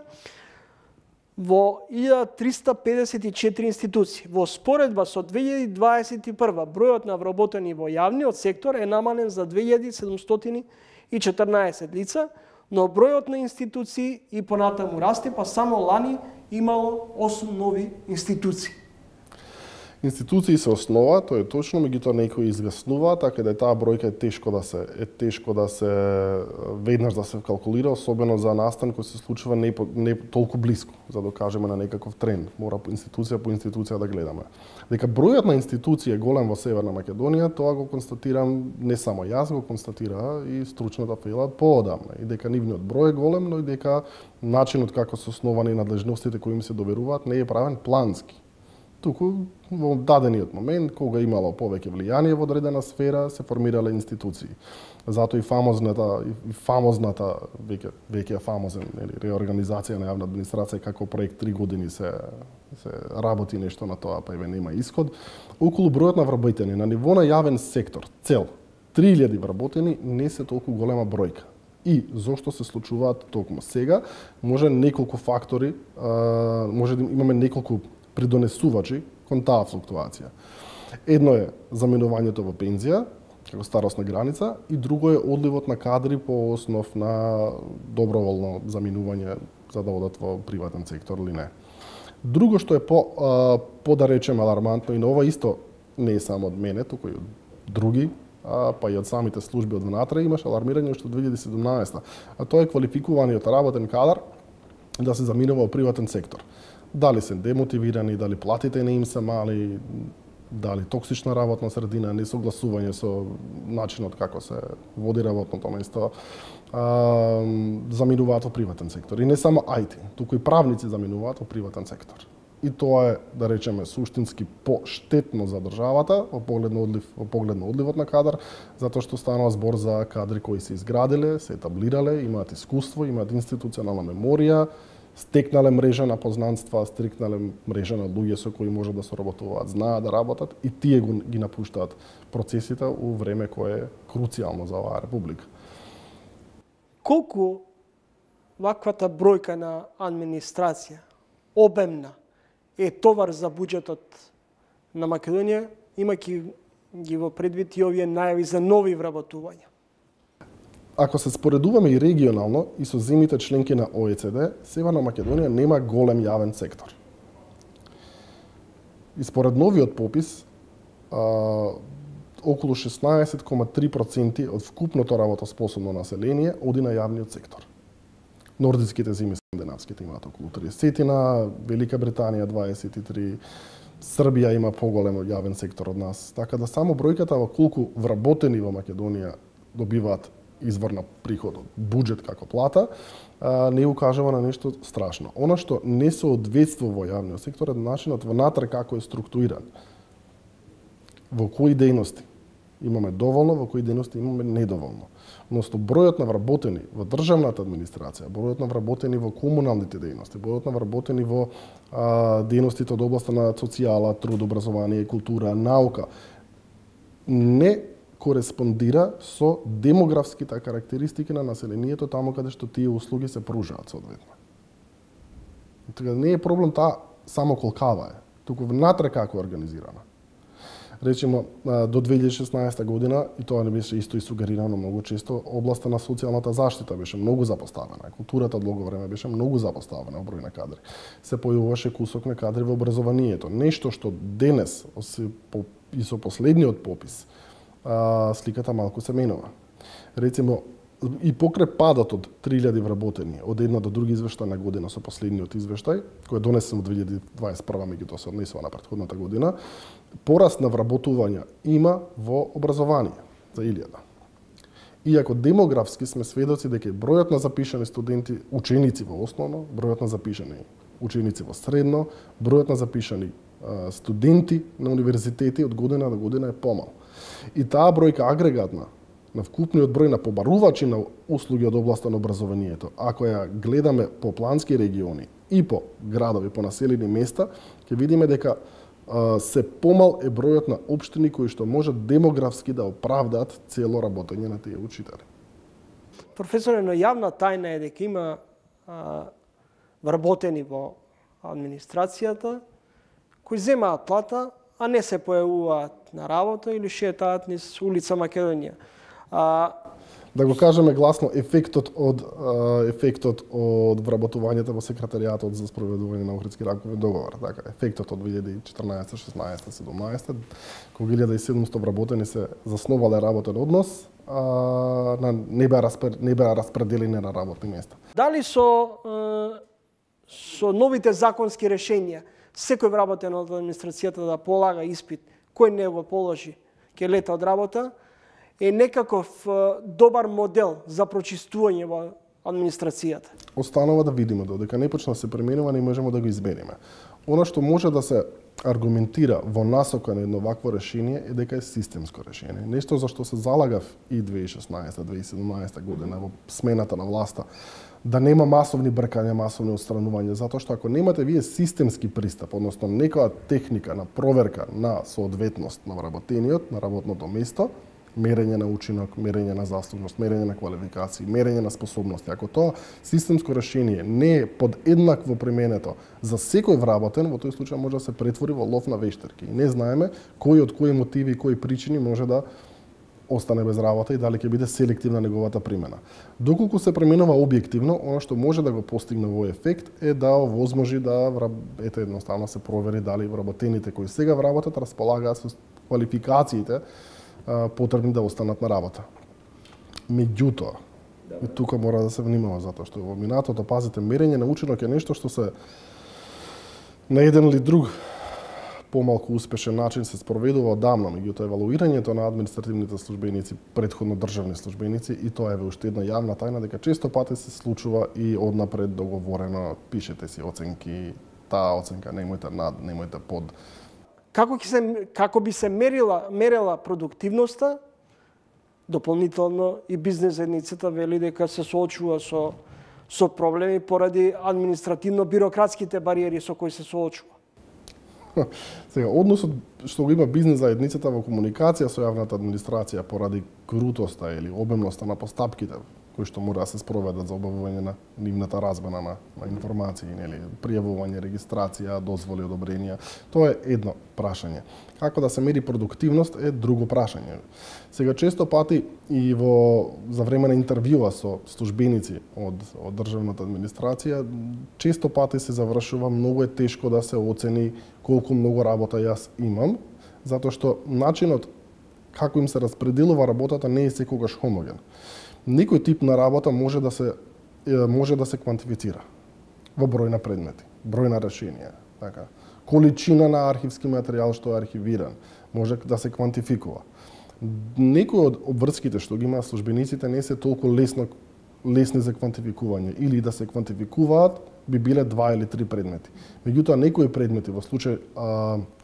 во 1354 институции. Во споредба со 2021 бројот на вработени во јавниот сектор е намален за 2714 лица, но бројот на институции и понатаму расте, па само лани имало 8 нови институции. Институции се основа, тоа е точно, меѓутоа некои изгаснува, така да таа бројка е тешко да се веднаш да се калкулира, особено за настан кој се случува не толку блиску, за да кажеме на некаков тренд. Мора по институција да гледаме. Дека бројот на институции е голем во Северна Македонија, тоа го констатирам не само јас, го констатира и стручната фела поодамна. И дека нивниот број е голем, но и дека начинот како се основани надлежностите кои им се доверуваат не е правен плански. Туку во дадениот момент, кога имало повеќе влијание во одредена сфера, се формирале институции. Затоа и фамозната веќе фамозен реорганизација на јавна администрација како проект 3 години се работи нешто на тоа, па еве нема исход. Околу бројот на вработени на ниво на јавен сектор, цел 3000 вработени не се толку голема бројка. И зошто се случуваат токму сега, може неколку фактори, може да имаме неколку придонесувачи кон таа флуктуација. Едно е заменувањето во пензија, како старосна граница, и друго е одливот на кадри по основ на доброволно заминување за да одат во приватен сектор или не. Друго што е по да речеме алармантно, и на ова исто не е само од мене, туку и од други, па и од самите служби од внатре, имаше алармирање уште од 2017, а тоа е квалификуваниот работен кадар да се заминува во приватен сектор. Дали се демотивирани, дали платите не им се мали, дали токсична работна средина, несогласување со начинот како се води работното место, заминуваат во приватен сектор. И не само IT, туку и правници заминуваат во приватен сектор. и тоа е, да речеме, суштински поштетно за државата во поглед на одливот на кадар, затоа што станува збор за кадри кои се изградиле, се етаблирале, имаат искуство, имаат институционална меморија, стекнале мрежа на познанства, стекнале мрежа на луѓе со кои може да соработуваат, знаат да работат и тие ги напуштаат процесите у време кое е круцијално за оваа република. Колку ваквата бројка на администрација, обемна, е товар за буџетот на Македонија, имајќи ги во предвид и овие најави за нови вработувања? Ако се споредуваме и регионално и со земјите членки на ОЕЦД, Северна Македонија нема голем јавен сектор. И според новиот попис, околу 16,3% од вкупното работоспособно население оди на јавниот сектор. Нордиските земји, скандинавските имаат околу 30, Велика Британија 23, Србија има поголем јавен сектор од нас. Така да само бројката во колку вработени во Македонија добиваат извор на приход од буџет како плата, не укажува на нешто страшно. Она што не соодветствува во јавниот сектор е начинот внатре како е структуриран. Во кои дејности имаме доволно, во кои дејности имаме недоволно. Односно, бројот на вработени во државната администрација, бројот на вработени во комуналните дејности, бројот на вработени во дејностите од областа на социјала, труд, образование, култура, наука, не кореспондира со демографските карактеристики на населението таму каде што тие услуги се пружаат соодветно. Така не е проблем таа само колкава е, туку внатре како е организирана. Речемо, до 2016 година, и тоа не беше исто и сугерирано многу често, областа на социјалната заштита беше многу запоставена. Културата долго време беше многу запоставена во број на кадри. Се појавуваше кусок на кадри во образованието. Нешто што денес, и со последниот попис, сликата малку се менува. Рецимо, и покрај падот од 3000 вработени од една до друга извештајна година со последниот извештај, кој е донесен во 2021, меѓутоа се однесува на претходната година, пораст на вработувања има во образование за 1000. Иако демографски сме сведоци дека бројот на запишани студенти, ученици во основно, бројот на запишани ученици во средно, бројот на запишани студенти на универзитети од година до година е помал. И таа бројка агрегатна на вкупниот број на побарувачи на услуги од областа на образованието, ако ја гледаме по плански региони и по градови, по населени места, ќе видиме дека се помал е бројот на општини кои што можат демографски да оправдаат цело работење на тие учители. Професоре, но јавна тајна е дека има вработени во администрацијата кои земаат плата, а не се појавуваат на работа или шетаат низ улица Македонија. Да го кажеме гласно, ефектот од вработувањето во секретаријатот за спроведување на Охридски рамкови договор, така, ефектот од 2014, 16, 17, кога 1700 вработени се засновале работен однос, не беа распределени на работни места. Дали со новите законски решенија секој вработен од администрацијата да полага испит, кој не го положи, ќе лета од работа, е некаков добар модел за прочистување во администрацијата? Останува да видиме, додека не почна да се применува, не можеме да го избериме. Она што може да се аргументира во насока на едно вакво решение е дека е системско решение. Нешто за што се залагав и 2016-2017 година во смената на власта, да нема масовни бркања, масовни отстранувања, затоа што ако немате вие системски пристап, односно некоја техника на проверка на соодветност на вработениот, на работното место, мерење на учинок, мерење на заслужност, мерење на квалификации, мерење на способности. Ако тоа системско решение не е подеднакво применето за секој вработен, во тој случај може да се претвори во лов на вештерки. И не знаеме кој од кои мотиви и кои причини може да остане без работа и дали ќе биде селективна неговата примена. Доколку се применува објективно, она што може да го постигне во ефект е да овозможи да едноставно се провери дали вработените кои сега вработат располагаат со квалификациите потребни да останат на работа. Меѓутоа, и тука мора да се внимава, затоа што во минатото, пазите, мерење на учинок е нешто што се на еден или друг помалку успешен начин се спроведува одамна, меѓутоа евалуирањето на административните службеници, претходно државни службеници, и тоа е уште една јавна тајна дека често пати се случува и однапред договорено, пишете си оценки, таа оценка, немојте над, немојте под. Како би се мерела продуктивноста, дополнително и бизнес заедницата вели дека се соочува со проблеми поради административно-бирократските бариери со кои се соочува. Сега, односот што го има бизнес заедницата во комуникација со јавната администрација поради крутоста или обемноста на постапките кои што мора да се спроведат за обавување на нивната размена на информации, нели, пријавување, регистрација, дозволи, одобренија, тоа е едно прашање. Како да се мери продуктивност е друго прашање. Сега често пати и за време на интервјуа со службеници од државната администрација, често пати се завршува многу е тешко да се оцени колку многу работа јас имам, затоа што начинот како им се распределува работата не е секогаш хомоген. Некој тип на работа може да се квантифицира во број на предмети, број на решенија, така. Количина на архивски материјал што е архивиран може да се квантификува. Некои од обврските што ги има службениците не се толку лесни за квантификување или да се квантификуваат би биле 2 или 3 предмети. Меѓутоа некои предмети во случај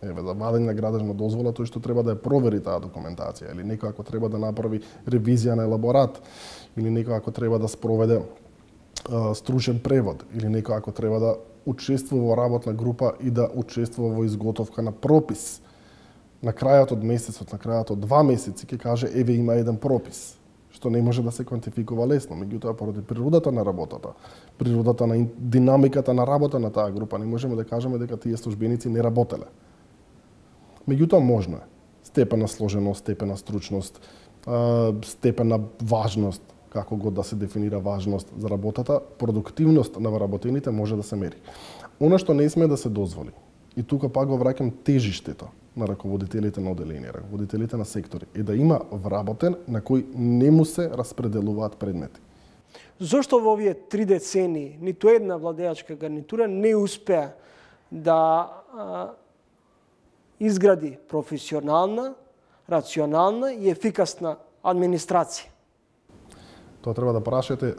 за вадење на градежна дозвола, тој што треба да ја провери таа документација или некој ако треба да направи ревизија на елаборат или некој ако треба да спроведе стручен превод или некој ако треба да учествува во работна група и да учествува во изготовка на пропис. На крајот од месецот, на крајот од 2 месеци ќе каже еве има еден пропис, што не може да се квантификува лесно, меѓутоа поради природата на работата, природата на динамиката на работа на таа група, не можеме да кажеме дека тие службеници не работеле. Меѓутоа можно е. Степен на сложеност, степен на стручност, степен на важност, како го да се дефинира важност за работата, продуктивност на вработените може да се мери. Она што не сме да се дозволи, и тука пак го враќам тежиштето на раководителите на оделенија, раководителите на сектори, е да има вработен на кој не му се распределуваат предмети. Зошто во овие 3 децении ниту една владеачка гарнитура не успеа да изгради професионална, рационална и ефикасна администрација? Тоа треба да прашате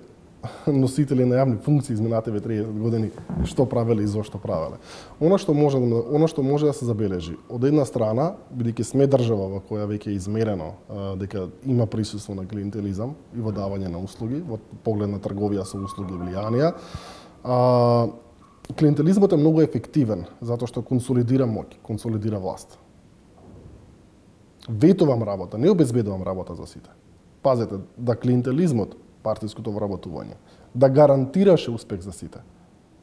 носители на јавни функции изминативе 30 години што правеле и зошто правеле. Она што може да се забележи, од една страна, бидејќи сме држава во која веќе е измерено дека има присуство на клиентелизам и во давање на услуги, во поглед на трговија со услуги и влијанија, клиентелизмот е многу ефективен затоа што консолидира моќ, консолидира власт. Ветувам работа, не обезбедувам работа за сите. Пазете, да клиентелизмот, партиското вработување, да гарантираше успех за сите.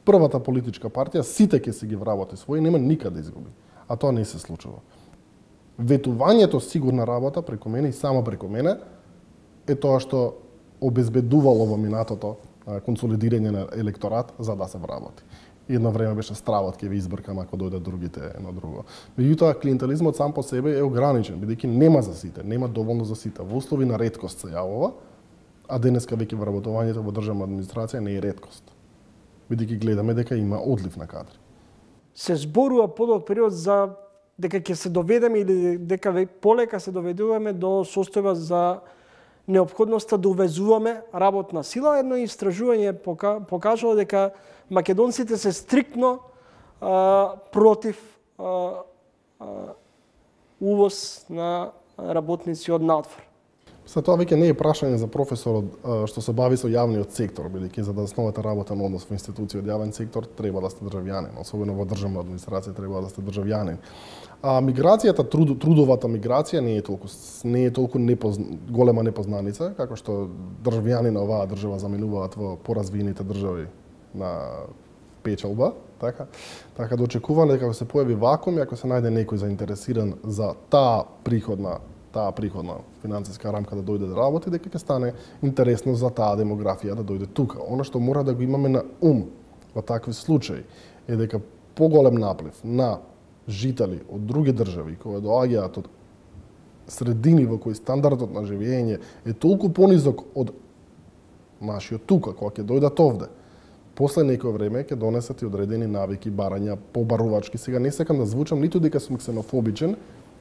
Првата политичка партија, сите ќе си ги вработи своји, нема никаде да изгуби. А тоа не се случува. Ветувањето сигурна работа преку мене и само преку мене е тоа што обезбедувало во минатото консолидирање на електорат за да се вработи. Едно време беше стравот ќе ви избркам ако дојдат другите едно друго. Меѓутоа клиентелизмот сам по себе е ограничен, бидејќи нема за сите, нема доволно за сите. Во услови на реткост се јавува, а денеска веќе вработувањето во државна администрација не е реткост. Бидејќи гледаме дека има одлив на кадри. Се зборува подолг период за дека ќе се доведеме или дека полека се доведуваме до состојба за неопходноста да увезуваме работна сила. Едно истражување покажало дека македонците се стриктно против увоз на работници од надвор. Тоа веќе не е прашање за професорот што се бави со јавниот сектор, бидејќи за да основате работен однос во институција од јавен сектор треба да сте државјанин, особено во државна администрација треба да сте државјанин. Миграцијата, трудовата миграција не е толку голема непознаница, како што државјани на оваа држава заменуваат во поразвиените држави на печалба, така да очекуваме дека ако се појави вакуум и ако се најде некој заинтересиран за таа приходна финансиска рамка да дојде да работи, дека ќе стане интересно за таа демографија да дојде тука. Она што мора да го имаме на ум во такви случаи е дека поголем наплив на жители од други држави кои доаѓаат од средини во кои стандардот на живење е толку понизок од нашиот тука, кога ќе дојдат овде. После некој време ќе донесат и одредени навики, барања, побарувачки. Сега не сакам да звучам ниту дека сум ксенофобичен,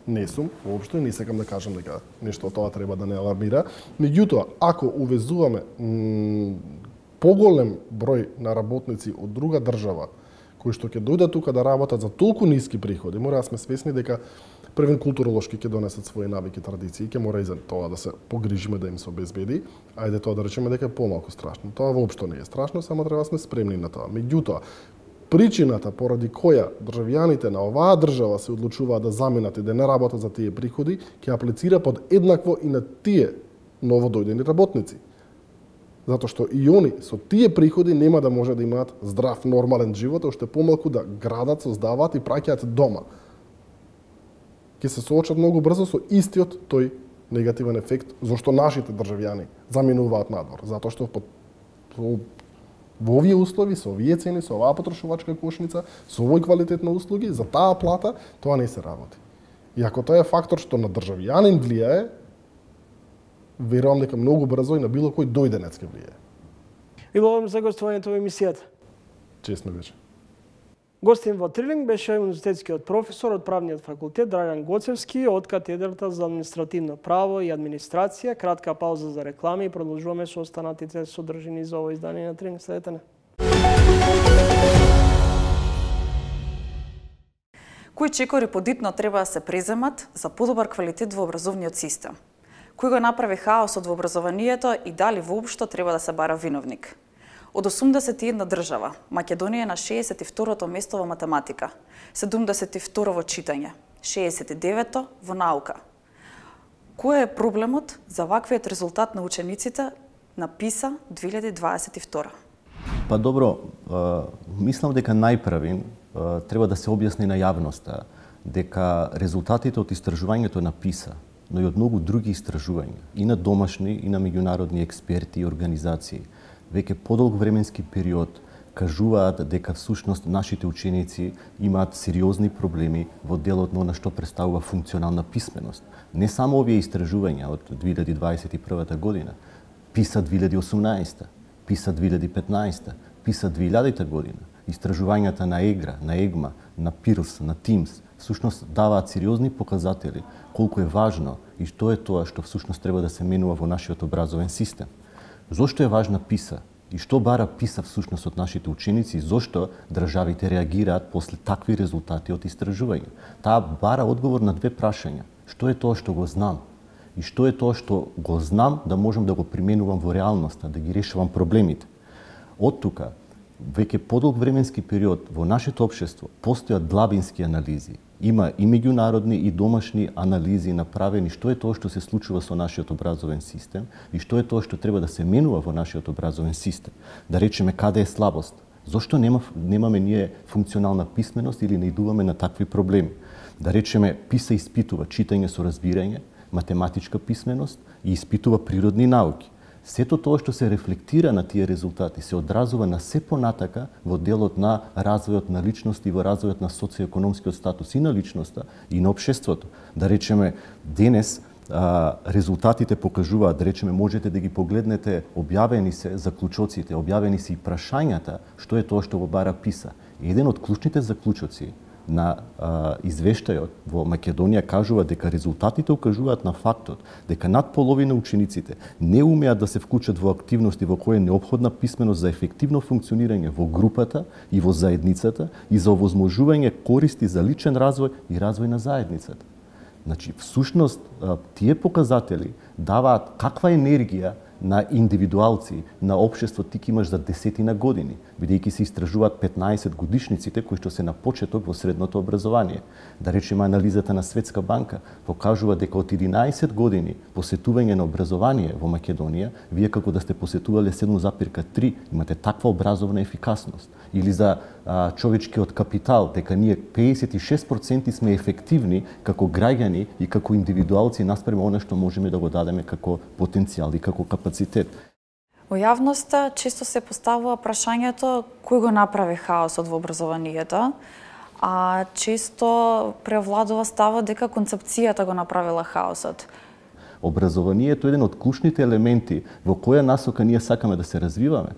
не сум, воопшто не сакам да кажам дека нешто од тоа треба да не алармира. Меѓутоа, ако увезуваме поголем број на работници од друга држава, кои што ќе дојдат тука да работат за толку ниски приходи, мора да сме свесни дека првен културолошки ќе донесат своји навики, традиции, ќе мора и за тоа да се погрижиме да им се обезбеди. Ајде тоа да речеме дека е помалку страшно. Тоа воопшто не е страшно, само треба да сме спремни на тоа. Меѓутоа, причината поради која државјаните на оваа држава се одлучуваат да заменат и да не работат за тие приходи, ќе аплицира под еднакво и на тие новодојдени работници. Затоа што и они со тие приходи нема да може да имаат здрав, нормален живот, уште помалку да градат, создаваат и праќаат дома. Ќе се соочат многу брзо со истиот тој негативен ефект, зашто нашите државјани заминуваат надвор. Затоа што во овие услови, со овие цени, со оваа потрошувачка кошница, со овој квалитет на услуги, за таа плата, тоа не се работи. И ако тоа е фактор што на државјанин влијае, верувам дека многу брзо и на било кој дојденец ќе влијае. Ви благодарам за гостувањето во емисијата. Чест ми беше. Гостин во Трилинг беше универзитетскиот професор од Правниот факултет Драган Гоцевски од катедрата за административно право и администрација. Кратка пауза за реклами и продолжуваме со останатите содржини за ово издание на Трилинг. Следете не. Кои чекори подитно треба да се преземат за подобар квалитет во образовниот систем? Кој го направи хаосот во образованието и дали воопшто треба да се бара виновник? Од 81 држава, Македонија е на 62-то место во математика, 72 во читање, 69-то во наука. Кој е проблемот за ваквиот резултат на учениците на ПИСА 2022? Па добро, мислам дека најпрвин треба да се објасни на јавноста дека резултатите од истражувањето на ПИСА, но и од многу други истражувања, и на домашни, и на меѓународни експерти и организации, веќе подолг временски период кажуваат дека всушност нашите ученици имаат сериозни проблеми во делот на она што представува функционална писменост. Не само овие истражувања од 2021 година, ПИСА 2018, ПИСА 2015, ПИСА 2000 година, истражувањата на ЕГРА, на ЕГМА, на ПИРЛС, на ТИМС, всушност даваат сериозни показатели колку е важно и што е тоа што всушност треба да се менува во нашиот образовен систем. Зошто е важна ПИСА и што бара ПИСА всушност од нашите ученици и зошто државите реагираат после такви резултати од истражување? Таа бара одговор на две прашања. Што е тоа што го знам? И што е тоа што го знам да можам да го применувам во реалноста, да ги решавам проблемите? Од тука, веќе подолг временски период во нашето општество постојат длабински анализи. Има и меѓународни и домашни анализи направени што е тоа што се случува со нашиот образовен систем и што е тоа што треба да се менува во нашиот образовен систем. Да речеме каде е слабост, зошто немаме ние функционална писменост или не идуваме на такви проблеми. Да речеме ПИСА испитува читање со разбирање, математичка писменост и испитува природни науки. Сето тоа што се рефлектира на тие резултати се одразува на се понатака во делот на развојот на личност и во развојот на социоекономскиот статус и на личноста и на општеството. Да речеме, денес резултатите покажуваат, да речеме, можете да ги погледнете, објавени се заклучоците, објавени се и прашањата, што е тоа што го бара ПИСА. Еден од клучните заклучоци на извештајот во Македонија кажува дека резултатите укажуваат на фактот дека над половина учениците не умеат да се вклучат во активности во кои е неопходна писменост за ефективно функционирање во групата и во заедницата и за овозможување користи за личен развој и развој на заедницата. Значи, всушност, тие показатели даваат каква енергија на индивидуалци, на општество ти имаш за десетина години, бидејќи се истражуваат 15 годишниците кои што се на почеток во средното образование. Да речеме, анализата на Светска банка покажува дека од 11 години посетување на образование во Македонија, вие како да сте посетувале 7,3 имате таква образовна ефикасност. Или за човечкиот капитал, дека ние 56% сме ефективни како граѓани и како индивидуалци наспрема она што можеме да го дадеме како потенцијал и како капацитет. Во јавноста често се поставува прашањето кој го направи хаосот во образованието, а често превладува ставот дека концепцијата го направила хаосот. Образованието е еден од клучните елементи во која насока ние сакаме да се развиваме.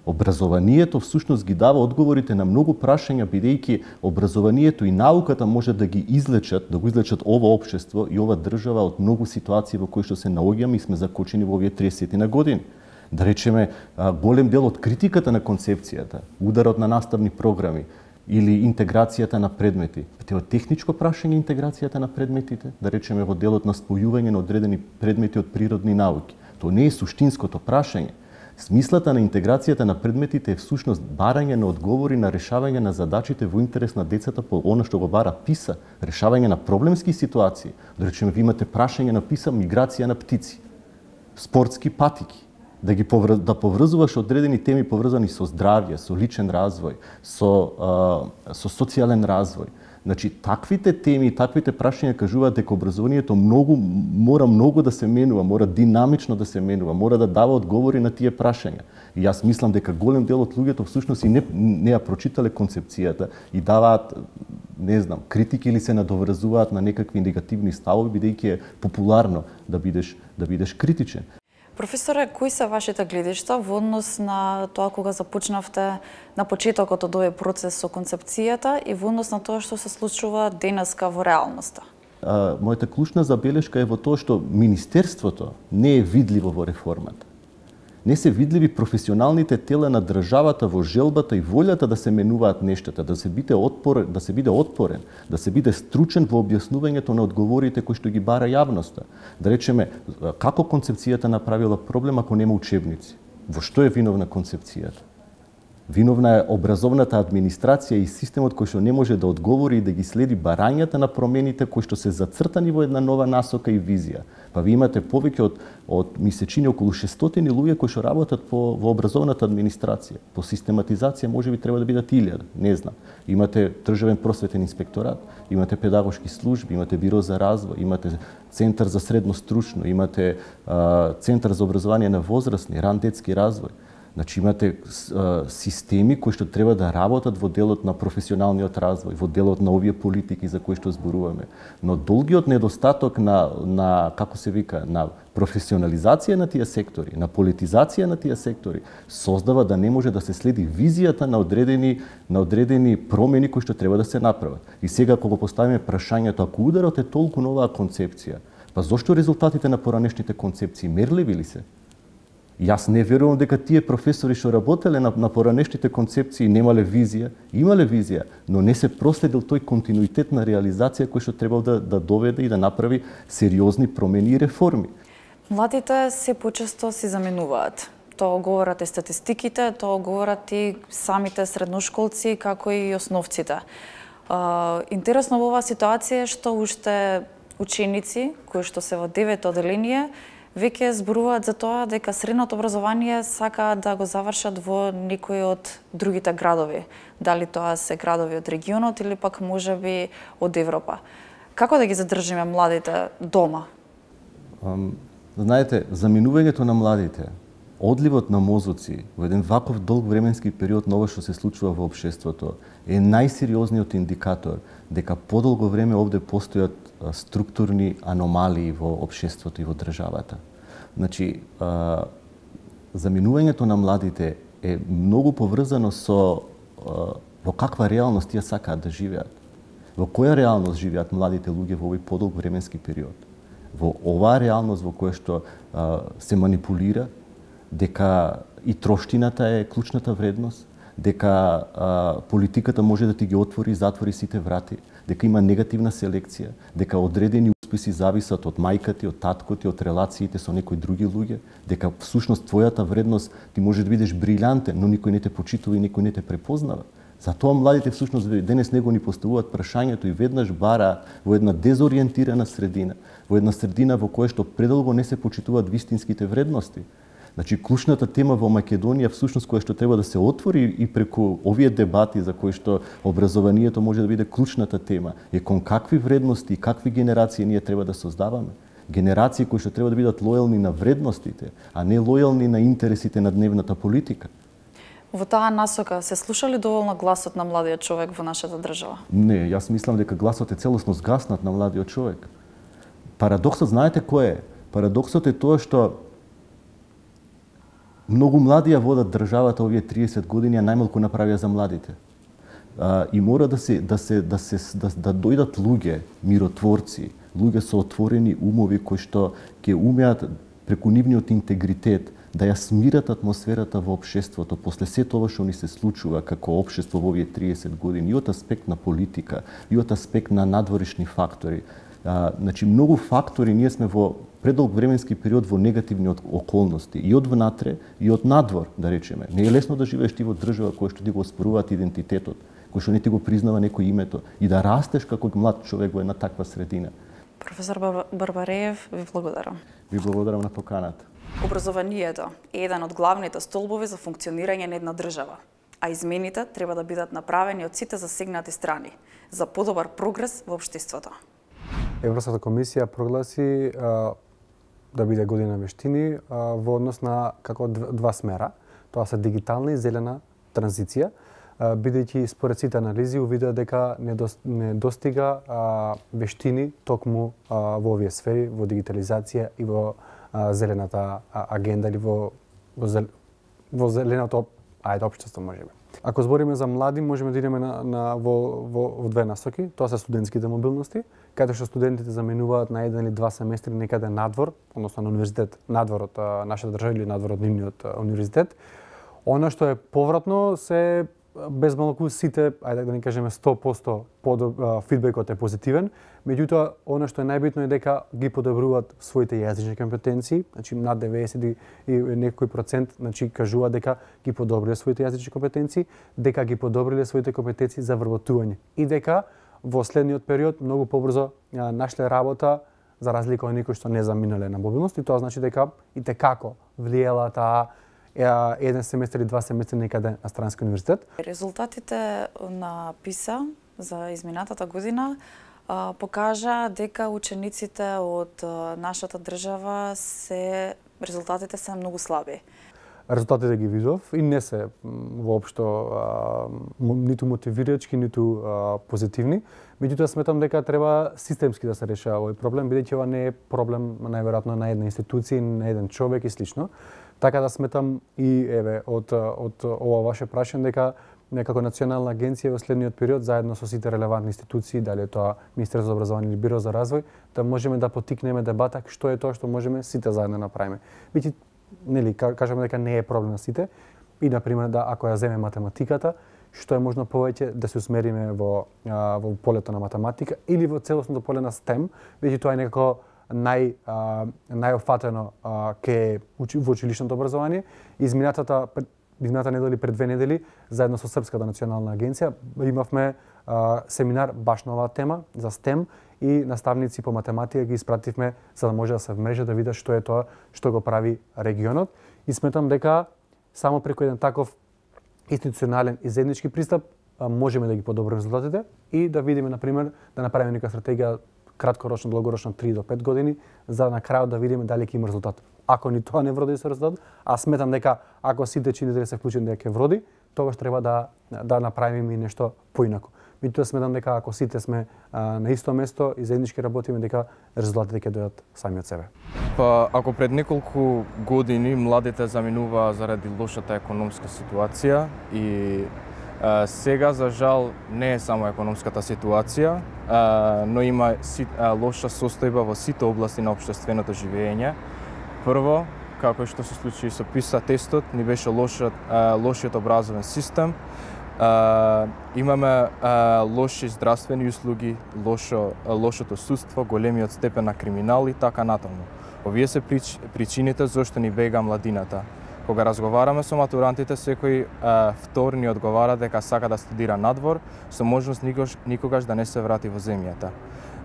Образованието всушност ги дава одговорите на многу прашања, бидејќи образованието и науката може да ги излечат, да го излечат ова општество и ова држава од многу ситуации во кои што се наоѓаме и сме закочени во овие 30 на години. Да речеме, голем дел од критиката на концепцијата, ударот на наставни програми, или интеграцијата на предмети. Тоа е техничко прашање интеграцијата на предметите, да речеме во делот на спојување на одредени предмети од природни науки. Тоа не е суштинското прашање. Смислата на интеграцијата на предметите е всушност барање на одговори на решавање на задачите во интерес на децата по она што го бара ПИСА, решавање на проблемски ситуации. Да речеме, ви имате прашање на ПИСА миграција на птици, спортски патики, да поврзуваш одредени теми поврзани со здравје, со личен развој, со социјален развој. Значи, таквите теми, таквите прашања кажуваат дека образованието мора многу да се менува, мора динамично да се менува, мора да дава одговори на тие прашања. И јас мислам дека голем дел од луѓето всушност и не ја прочитале концепцијата и даваат, не знам, критики или се надоврзуваат на некакви негативни ставови, бидејќи е популарно да бидеш критичен. Професоре, кои се вашите гледишта во однос на тоа кога започнавте на почетокот од овој процес со концепцијата и во однос на тоа што се случува денеска во реалноста? Мојата клучна забелешка е во тоа што Министерството не е видливо во реформата. Не се видливи професионалните тела на државата во желбата и волјата да се менуваат нештата, да се биде отпорен, да се биде стручен во објаснувањето на одговорите кои што ги бара јавноста. Да речеме, како концепцијата направила проблем ако нема учебници? Во што е виновна концепцијата? Виновна е образовната администрација и системот кој што не може да одговори и да ги следи барањата на промените кои што се зацртани во една нова насока и визија. Па ви имате повеќе од месечини околу 600 луѓе кои што работат во образовната администрација. По систематизација можеби треба да бидат 1000, не знам. Имате државен просветен инспекторат, имате педагошки служби, имате биро за развој, имате центар за средно стручно, имате центар за образование на возрастни, ран детски развој. Значи имате системи кои што треба да работат во делот на професионалниот развој, во делот на овие политики за кои што зборуваме. Но долгиот недостаток на како се вика, на професионализација на тие сектори, на политизација на тие сектори, создава да не може да се следи визијата на одредени промени кои што треба да се направат. И сега кога го поставиме прашањето, ако ударот е толку на оваа концепција, па зошто резултатите на поранешните концепции мерливи ли се? Јас не верувам дека тие професори што работеле на поранешните концепции немале визија, имале визија, но не се проследил тој континуитет на реализација кој што требал да доведе и да направи сериозни промени и реформи. Младите се почесто си заменуваат. Тоа говорат и статистиките, тоа говорат и самите средношколци, како и основците. Интересно во оваа ситуација е што уште ученици кои што се во 9-то одделение веќе зборуваат за тоа дека средното образование сакаат да го завршат во некои од другите градови. Дали тоа се градови од регионот или пак можеби од Европа. Како да ги задржиме младите дома? Знаете, заминувањето на младите, одливот на мозоци во еден ваков долг временски период на ова што се случува во општеството е најсериозниот индикатор дека подолго време овде постојат структурни аномалии во општеството и во државата. Значи, заминувањето на младите е многу поврзано со во каква реалност тие сакаат да живеат. Во која реалност живеат младите луѓе во овој подолг временски период? Во оваа реалност во која што се манипулира, дека и троштината е клучната вредност, дека политиката може да ти ги отвори и затвори сите врати, дека има негативна селекција, дека одредени успеси зависат од мајката, од таткото, од релациите со некои други луѓе, дека всушност твојата вредност ти може да бидеш брилјантен, но никој не те почитува и никој не те препознава. Затоа младите всушност денес него ни поставуваат прашањето и веднаш бара во една дезориентирана средина, во една средина во која што предолго не се почитуваат вистинските вредности. Значи, клучната тема во Македонија, всушност, која што треба да се отвори и преку овие дебати за кои што образованието може да биде клучната тема, е кон какви вредности и какви генерации ние треба да создаваме. Генерации кои што треба да бидат лојални на вредностите, а не лојални на интересите на дневната политика. Во таа насока се слуша ли доволно гласот на младиот човек во нашата држава? Не, јас мислам дека гласот е целосно згаснат на младиот човек. Парадоксот, знаете кој е? Парадоксот е тоа што многу млади ја водат државата овие 30 години, а најмалку направија за младите. И мора да дојдат луѓе, миротворци, луѓе со отворени умови кои што ќе умеат преку нивниот интегритет да ја смират атмосферата во општеството после сето ова што ни се случува како општество во овие 30 години, и од аспект на политика, и од аспект на надворешни фактори. Значи, многу фактори, ние сме во предолг временски период во негативни околности, и од внатре, и од надвор, да речеме. Не е лесно да живееш ти во држава која што ти го оспоруваат идентитетот, кој што не ти го признава некој името, и да растеш како млад човек во една таква средина. Професор Барбареев, ви благодарам. Ви благодарам на поканата. Образованието е еден од главните столбови за функционирање на една држава, а измените треба да бидат направени од сите засегнати страни за подобар прогрес во општеството. Европската комисија прогласи да биде година вештини во однос на како два смера. Тоа се дигитална и зелена транзиција, бидејќи според сите анализи увидува дека не достига вештини токму во овие сфери, во дигитализација и во зелената агенда или во зеленото општество можеби. Ако збориме за млади, можеме да идеме во две насоки. Тоа се студентските мобилности, каде што студентите заменуваат на 1 или 2 семестри некаде надвор, односно на универзитет, надвор од нашата држава или надвор од нивниот универзитет. Она што е повратно се без малку сите, ајде да не кажеме 100% фидбекот е позитивен, меѓутоа она што е најбитно е дека ги подобруваат своите јазични компетенции, значи над 90 и некој процент, значи кажуваат дека ги подобриле своите јазични компетенции, дека ги подобриле своите компетенции за вработување и дека во следниот период многу побрзо нашле работа за разлика од некои што не заминале на мобилност, и тоа значи дека и текако влиела таа 1 семестар и 2 семестри некаде на странски универзитет. Резултатите на ПИСА за изминатата година покажа дека учениците од нашата држава резултатите се многу слаби. Резултатите ги видов и не се воопшто ниту мотивирачки, ниту позитивни. Меѓутоа сметам дека треба системски да се решава овој проблем, бидејќи ова не е проблем најверојатно на една институција, на еден човек и слично. Така да сметам и еве од ова ваше прашање дека некако национална агенција во следниот период заедно со сите релевантни институции, дали е тоа Министерство за образование или Биро за развој, да можеме да поттикнеме дебата што е тоа што можеме сите заедно направиме. Бидејќи нели кажеме дека не е проблем на сите и на пример да ако ја земе математиката, што е можно повеќе да се усмериме во полето на математика или во целосното поле на STEM, бидејќи тоа е некако најофатено во училишното образование. Измината недели или пред 2 недели, заедно со Српската национална агенција, имавме семинар баш на оваа тема за STEM и наставници по математика ги испративме за да може да се вмрежат да видат што е тоа што го прави регионот. И сметам дека само преку еден таков институционален и заеднички пристап можеме да ги подобриме резултатите и да видиме, например, да направиме нека стратегија краткорочно, долгорочно 3 до 5 години, за на крајот да видиме дали ќе има резултат. Ако ни тоа не вроди со резултат, а сметам дека ако сите чинители се вклучени дека ќе вроди, тогаш треба да направиме и нешто поинаку. Меѓутоа сметам дека ако сите сме на исто место и заеднички работиме, дека резултатите ќе дојдат сами од себе. Па ако пред неколку години младите заминуваа заради лошата економска ситуација и сега, за жал, не е само економската ситуација, но има лоша состојба во сите области на општественото живење. Прво, како што се случи со ПИСА тестот, ни беше лошиот образовен систем, имаме лоши здравствени услуги, лошото судство, големиот степен на криминал и така натаму. Овие се причините зашто ни бега младината. Кога разговараме со матурантите, секој втор ни одговара дека сака да студира надвор, со можност никогаш да не се врати во земјата.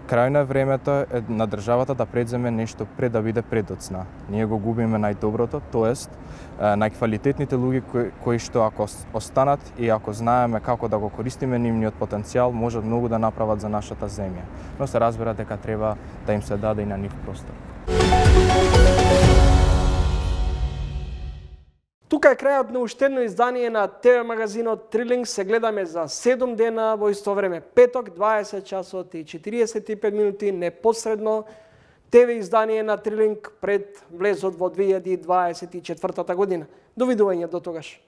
Крајно е времето на државата да предземе нешто пред да биде предоцна. Ние го губиме најдоброто, тоест најквалитетните луѓе кои што ако останат и ако знаеме како да го користиме нивниот потенцијал, можат многу да направат за нашата земја. Но се разбира дека треба да им се даде и на нив простор. Тука е крајот на уште едно издание на ТВ магазинот Трилинг. Се гледаме за 7 дена во исто време, петок, 20 часот и 45 минути, непосредно ТВ издание на Трилинг пред влезот во 2024 година. Довидување до тогаш.